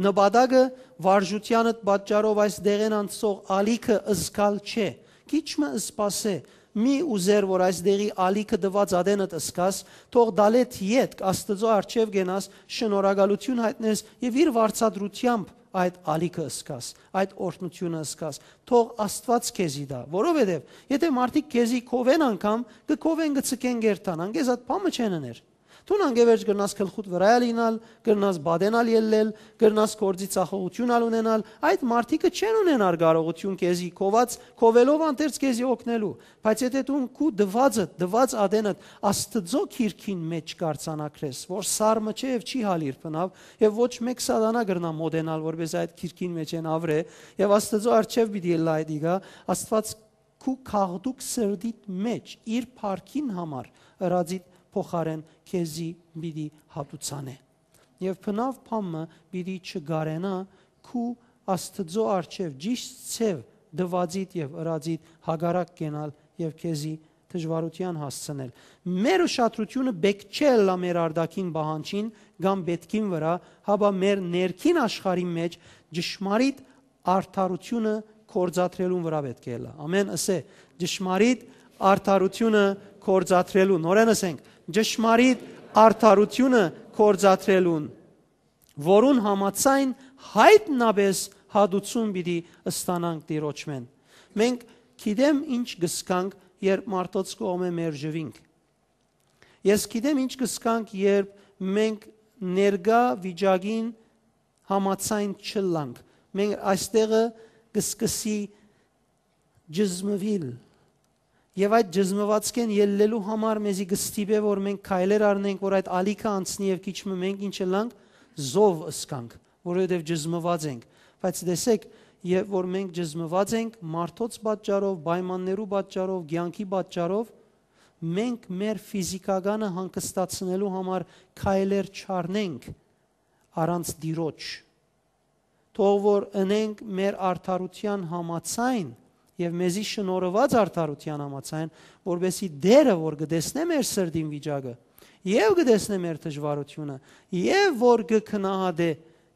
Նպատակը վարժութեանդ պատճառով այս դեղէն անցող ալիքը զգալ չէ։ Քիչ մը սպասէ, Մի ուզեր որ այս դեղի ալիքը տուած ատենդ ըսկաս, թող դալետ ետք Աստուծոյ առջեւ կենաս, շնորհակալութիւն յայտնես եւ իր վարձատրութեամբ այդ ալիքը ըսկաս, այդ օրհնութիւնը ըսկաս։ Թող Աստուած քեզի տայ, որովհետեւ եթէ մարդիկ քեզի քովեն անգամ, կը քովեն, կը ցկեն, կ'երթան, անկեզ այդ բան մը չեն ըներ։ Դուն անկեվերջ կրնաս գլխուդ վրայ ալ իյնալ, կրնաս պատենալ ելլել, կրնաս գործի ձախողութիւն ալ ունենալ, այդ մարդիկը չեն ունենար կարողութիւն քեզի քոված, քովելով անդերձ քեզի օգնելու։ Բայց եթէ դուն քու տուածդ, տուած ատենդ Աստուծոյ գիրքին մէջ կ'արձանագրես, որ սառը չէ եւ չի հալիր բնաւ, եւ ոչ մէկ սատանայ կրնայ մօտենալ, որպէս այդ գիրքին մէջ են աւրէ, եւ Աստուծոյ առջեւ պիտի ըլլայ դիգա, Աստուած քու գաղտուկ սրտիդ մէջ իր փառքին համար ըրածիդ փոխարէն քեզի պիտի հատուցանէ։ Եւ բնաւ բան մը պիտի չկարենայ քու Աստուծոյ առջեւ ճիշդ ձեւ տուածիդ եւ ըրածիդ հակառակ կենալ եւ քեզի դժուարութեան հասցնել։ Մեր ուշադրութիւնը պէտք չէ ըլլայ մեր արտաքին պահանջին կամ պէտքին վրայ, հապա մեր ներքին աշխարհին մէջ ճշմարիտ արդարութիւնը գործադրելուն վրայ պէտք է ըլլայ։ Ամեն, ըսէ, ճշմարիտ արդարութիւնը գործադրելուն։ Նորէն ըսենք, ճշմարիտ արդարութիւնը գործադրելուն, որուն համաձայն յայտնապէս հատուցում պիտի ստանանք Տիրոջմէն։ Մենք գիտեմ ինչ կ'ըսկանք, երբ մարդոց կողմէ մերժուինք։ Ես գիտեմ ինչ կ'ըսկանք, երբ մենք ներկայ վիճակին համաձայն չըլլանք։ Մենք այստեղը կ'սկսի ճզմուիլ։ Եւ այդ ճզմուածքէն ելլելու համար մեզի կը ստիպէ, որ մենք քայլեր առնենք, որ այդ ալիքը անցնի եւ քիչ մը մենք ինչ ըլլանք, զով ըսկանք, որովհետեւ ճզմուած ենք։ Բայց տեսեք, երբ որ մենք ճզմուած ենք մարդոց պատճառով, պայմաններու պատճառով, կեանքի պատճառով, մենք մեր ֆիզիկականը հանգստացնելու համար քայլեր չառնենք առանց Տիրոջ։ Թող որ ընենք մեր արդարութեան համաձայն եւ մեզի շնորհուած արդարութեան համաձայն, որպեսզի Տէրը, որ կը տեսնէ մեր սրտին վիճակը, եւ կը տեսնէ մեր դժուարութիւնը, եւ որ կը գնահատէ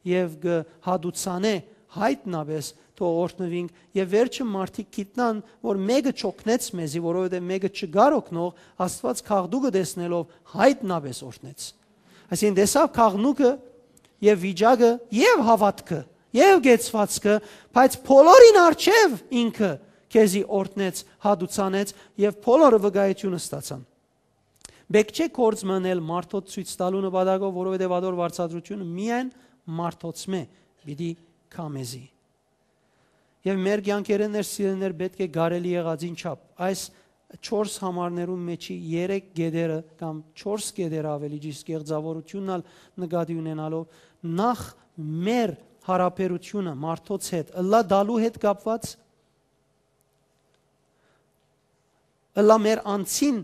եւ կը հատուցանէ, յայտնապէս թող օրհնուինք եւ վերջը մարդիկ գիտնան, որ մէկը չօգնեց մեզի, որովհետեւ մէկը չկար օգնող, Աստուած գաղտուկը տեսնելով յայտնապէս օրհնեց։ Այսինքն տեսաւ գաղտնուկը եւ վիճակը եւ հաւատքը եւ կեցվածքը, բայց բոլորին առջեւ ինքը քեզի օրհնեց, հատուցանեց եւ բոլորը վկայութիւնը ստացան։ Պէտք չէ գործ մը ընել մարդոց ցոյց տալու նպատակով, որովհետեւ ատոր վարձատրութիւնը միայն մարդոցմէ պիտի գայ մեզի։ Եւ մեր կեանքերէն ներ, սիրելիներ, պէտք է կարելի եղածին չափ այս չորս համարներուն մէջի երեք կետերը կամ չորս կետերը, ավելի ճիշդ, կեղծաւորութիւնն ալ նկատի ունենալով, նախ մեր յարաբերութիւնը մարդոց հետ ըլլայ տալու հետ կապուած, ըլլայ մեր անձին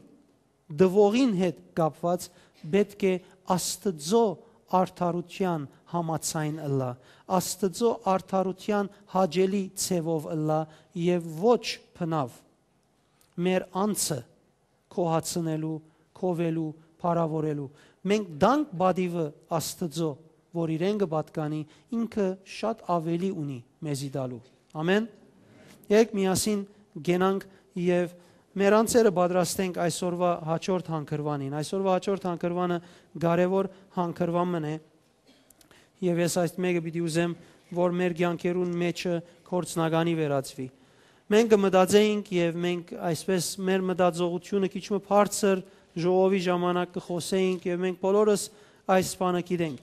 տուողին հետ կապուած, պէտք է Աստուծոյ արդարութեան համաձայն ըլլայ, Աստուծոյ արդարութեան հաճելի ձեւով ըլլայ եւ ոչ բնաւ մեր անձը գոհացնելու, քովելու, փառաւորելու։ Մենք տանք պատիւը Աստուծոյ, որ իրեն կը պատկանի, ինքը շատ աւելի ունի մեզի տալու։ Ամեն։ Եկեք միասին գնանք եւ մեր անձերը պատրաստենք այսօրվա հաջորդ հանգրուանին։ Այսօրվա հաջորդ հանգրուանը կարեւոր հանգրուան մըն է, եւ ես այս մէկը պիտի ուզեմ, որ մեր կեանքերուն մէջը գործնականի վերածուի։ Մենք կը մտածենք եւ մենք այսպես մեր մտածողությունը քիչ մը բարձր ժողովի ժամանակ կը խօսենք եւ մենք բոլորս այս բանը գիտենք։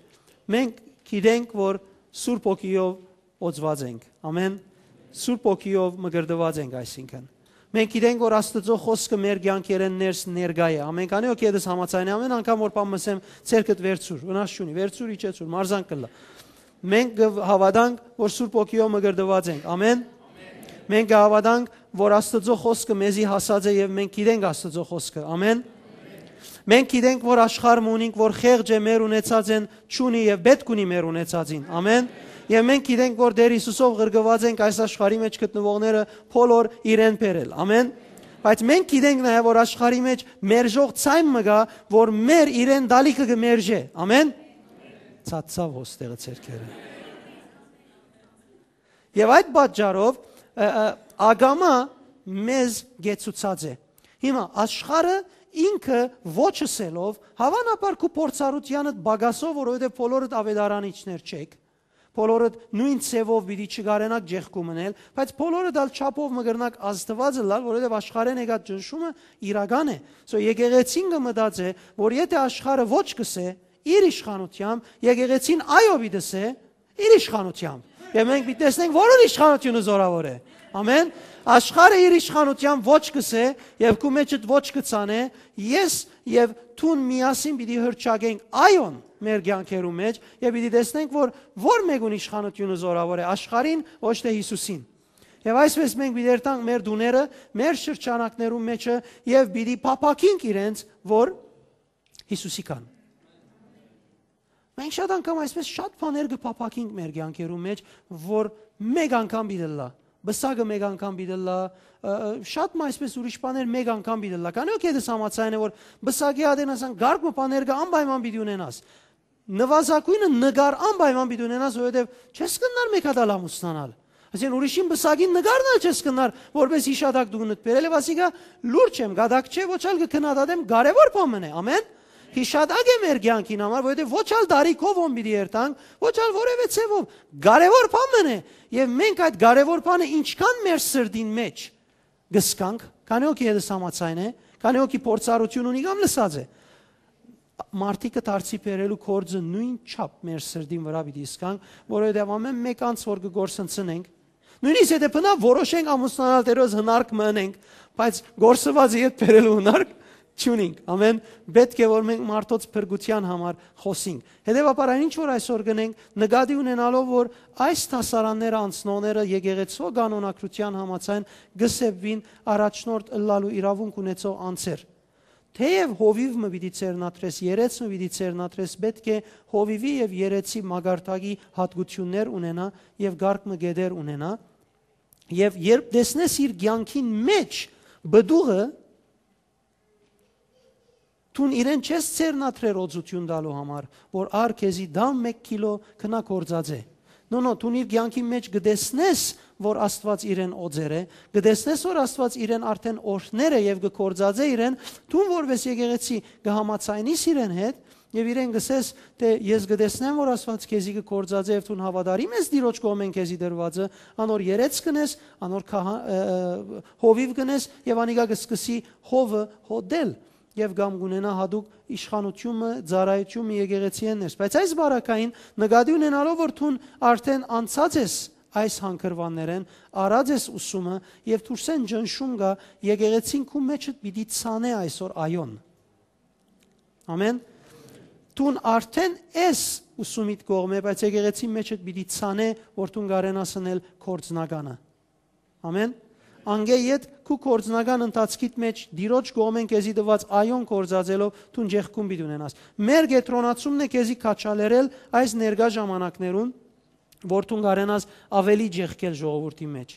Մենք գիտենք, որ Սուրբ Հոգիով օծուած ենք։ Ամեն։ Սուրբ Հոգիով մկրտուած ենք, այսինքն։ Մենք գիտենք, որ Աստուծոյ խօսքը մեր կեանքերէն ներս ներկայ է։ Ամեն քանի հոգի հետս համաձայն է, ամեն անգամ որ բան մսեմ, ցերկդ վերցուր, վնաս չունի, վերցուր, իջեցուր, մարզանք կլա։ Մենք կը հաւատանք, որ Սուրբ Հոգիով մկրտուած ենք։ Ամեն։ Մենք կը հաւատանք, որ Աստուծոյ խօսքը մեզի հասած է եւ մենք գիտենք Աստուծոյ խօսքը։ Ամեն։ Մենք գիտենք, որ աշխարհ մը ունինք, որ խեղճ է, մեր ունեցած են, չունի եւ պէտք ունի մեր ունեցածին։ Ամեն։ Եւ մենք գիտենք, որ Տէր Հիսուսով ղրկուած ենք այս աշխարհի մէջ գտնուողները բոլոր իրեն բերել։ Ամեն։ Բայց մենք գիտենք նաեւ, որ աշխարհի մէջ մերժող ցայն մը կայ, որ մեր իրեն տալիքը կը մերժէ։ Ամեն։ Ցածցաւ հոստեղը ձեռքերը։ Եւ այդ պատճառով, ը, ը, ակամա մեզ գեցուցած է։ Հիմա, աշխարհը ինքը ոչ ըսելով, հաւանաբար քու փորձառութեանդ պակասով, որովհետեւ բոլորդ աւետարանիչներ չէք, բոլորդ նոյն ձեւով պիտի չկարենաք ճեղքում ընել, բայց բոլորդ ալ չափով մը կրնաք Աստուած ըլլալ, որովհետեւ աշխարհէն եկած ճնշումը իրական է։ So, եկեղեցին կը մտածէ, որ եթէ աշխարհը ոչ կ'ըսէ, իր իշխանութեամբ, եկեղեցին այո պիտի ըսէ, իր իշխանութեամբ։ Եւ մենք պիտի տեսնենք, որուն իշխանութիւնը զօրաւոր է։ Ամեն։ Աշխարհը իր իշխանութեամբ ոչ կ'ըսէ, եւ քու մեջդ ոչ կը ցանէ, ես եւ դուն միասին պիտի հռչակենք այոն մեր կեանքերու մէջ, եւ պիտի տեսնենք, որ որ մէկուն իշխանութիւնը զօրաւոր է, աշխարհին, ոչ թէ Յիսուսին։ Եւ այսպէս մենք պիտի երթանք մեր տուները, մեր շրջանակներու մէջը, եւ պիտի փափաքենք իրենց, որ Յիսուսի կան։ Մենք շատ անգամ այսպէս շատ բաներ կը փափաքենք մեր կեանքերու մէջ, որ մէկ անգամ պիտի ըլլայ, պսակը մէկ անգամ պիտի ըլլայ, ը, ը, շատ մը այսպէս ուրիշ բաներ մէկ անգամ պիտի ըլլայ։ Քանի՞ հոգի դες համաձայն է, որ պսակի ատեն ասան կարգ մը բաներ կը անպայման պիտի ունենաս։ Նուազագոյնը նկար անպայման պիտի ունենաս, որովհետեւ չես կրնար մէկ հատ ալ ամուսնանալ։ Այսինքն, ուրիշին պսակին նկարն ալ չես կրնար որպէս յիշատակ դու նդ բերել, եւ ասիկա լուրջ եմ, գադակ չէ, ոչ ալ կը քննադատեմ, կարեւոր բան մըն է, ամեն։ Յիշատակ է մեր կեանքին համար, որովհետեւ ոչ ալ տարիքով ում պիտի երթանք, ոչ ալ որեւէ ձեւով, կարեւոր բան մըն է, եւ մենք այդ կարեւոր բանը ինչքան մեր սրտին մէջ կ'զգանք, քանի՞ հոգի դες համաձայն է, քանի՞ հոգի փորձառութիւն ունի կամ լսած է, մարդիկը դարձի բերելու գործը նոյն չափ մեր սրտին վրայ պիտի զգանք, որովհետեւ ամէն մէկ անձ որ կը գործընծնենք, նոյնիսկ եթէ բնա որոշենք ամուսնանալ, Տէրոյ հնարք մը ընենք, բայց գործուածը ետ բերելու հնարք չունինք։ Ամեն, պէտք է որ մենք մարդոց փրկութեան համար խօսինք։ Հետեւաբար այն ինչ որ այսօր կ'ընենք, նկատի ունենալով որ այս դասարանները անցնողները եկեղեցու կանոնագրութեան համաձայն կը սեպուին առաջնորդ ըլլալու իրաւունք ունեցող անձեր։ Թէեւ հովիւ մը պիտի ձեռնադրես, երեց մը պիտի ձեռնադրես, պէտք է հովիւի եւ երեցի մակարդակի յատկութիւններ ունենայ եւ կարգ մը կետեր ունենայ։ Եւ երբ տեսնես իր կեանքին մէջ պտուղը, դուն իրեն չես ձեռնադրեր օծութիւն տալու համար, որ ար քեզի դամ մէկ քիլո, գնա գործածէ։ No, no, դուն իր կեանքին մէջ կը տեսնես, որ Աստուած իրեն օծեր է, կը տեսնես, որ Աստուած իրեն արդեն օրհներ է եւ կը գործածէ իրեն, դուն որպէս եկեղեցի կը համաձայնիս իրեն հետ, եւ իրեն կ'ըսես, թէ ես կը տեսնեմ, որ Աստուած քեզի կը գործածէ եւ դուն հաւատարիմ ես Տիրոջ կողմէն քեզի տրուածը, անոր երեց կ'ընես, անոր քահա-, ը, ը, հովիւ կ'ընես եւ անիկա կը սկսի հովը հոտել եւ կամ կ'ունենայ յատուկ իշխանութիւնը, ծառայութիւնը եկեղեցիէն ներս։ Բայց այս բարակային նկատի ունենալով, որ դուն արդեն անցած ես այս հանգրուաններէն, առած ես ուսումը եւ դուրսէն ճնշում կայ, եկեղեցին քու մեջդ պիտի ցանէ այսօր այոն։ Ամեն։ Դուն արդեն ես ուսումիդ կողմէ, բայց եկեղեցին մեջդ պիտի ցանէ, որ դուն կարենաս ընել գործնականը։ Ամեն։ Անկէ յետ քու գործնական ընթացքիդ մէջ Տիրոջ կողմէն քեզի տուած այոն գործածելով դուն ճեղքում պիտի ունենաս։ Մեր կեդրոնացումն է քեզի քաջալերել այս ներկայ ժամանակներուն, որ դուն կարենաս ավելի ճեղքել ժողովուրդի մէջ։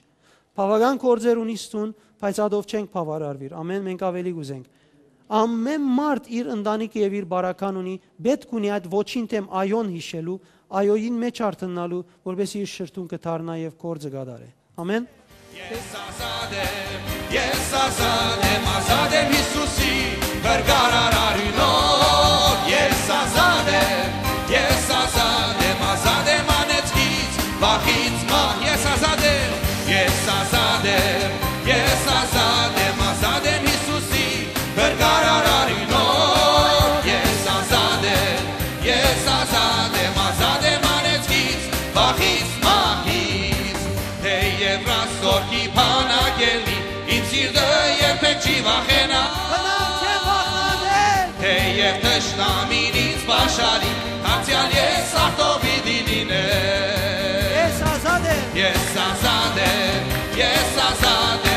Բաւական գործեր ունիս դուն, բայց ատով չենք բաւարարուիր։ Ամեն, մենք ավելի կ'ուզենք։ Ամեն մարդ իր ընտանիքը եւ իր բարական ունի, պէտք ունի այդ ոչին դէմ այոն յիշելու, այոյին մէջ արթննալու, որպէս իր շրթունքը դառնայ եւ գործը կատարէ։ Ամեն։ Ես ազատ եմ, ես ազատ եմ, ազատ եմ Յիսուսի փրկարար արիւնով։ Ես ազատ եմ, ես ազատ եմ, ազատ եմ անեծքից, վախից, մահ, ես ազատ եմ, ես ազատ եմ, ես ազատ եմ, ազատ եմ Յիսուսի փրկարար արիւնով։ Ես ազատ եմ, ես ազատ եմ, ազատ եմ անեծքից, վախից, մահից։ Թեեւ Ռաստորքի բանակ ելնի, իմ սիրտը երբեք չի վախենայ։ Բնավ չեմ վախեալ։ Թեեւ թշնամին ինձ պաշարի, դարձեալ ես արտող պիտի լինեմ։ Ես ազատ եմ։ Ես ազատ եմ, ես ազատ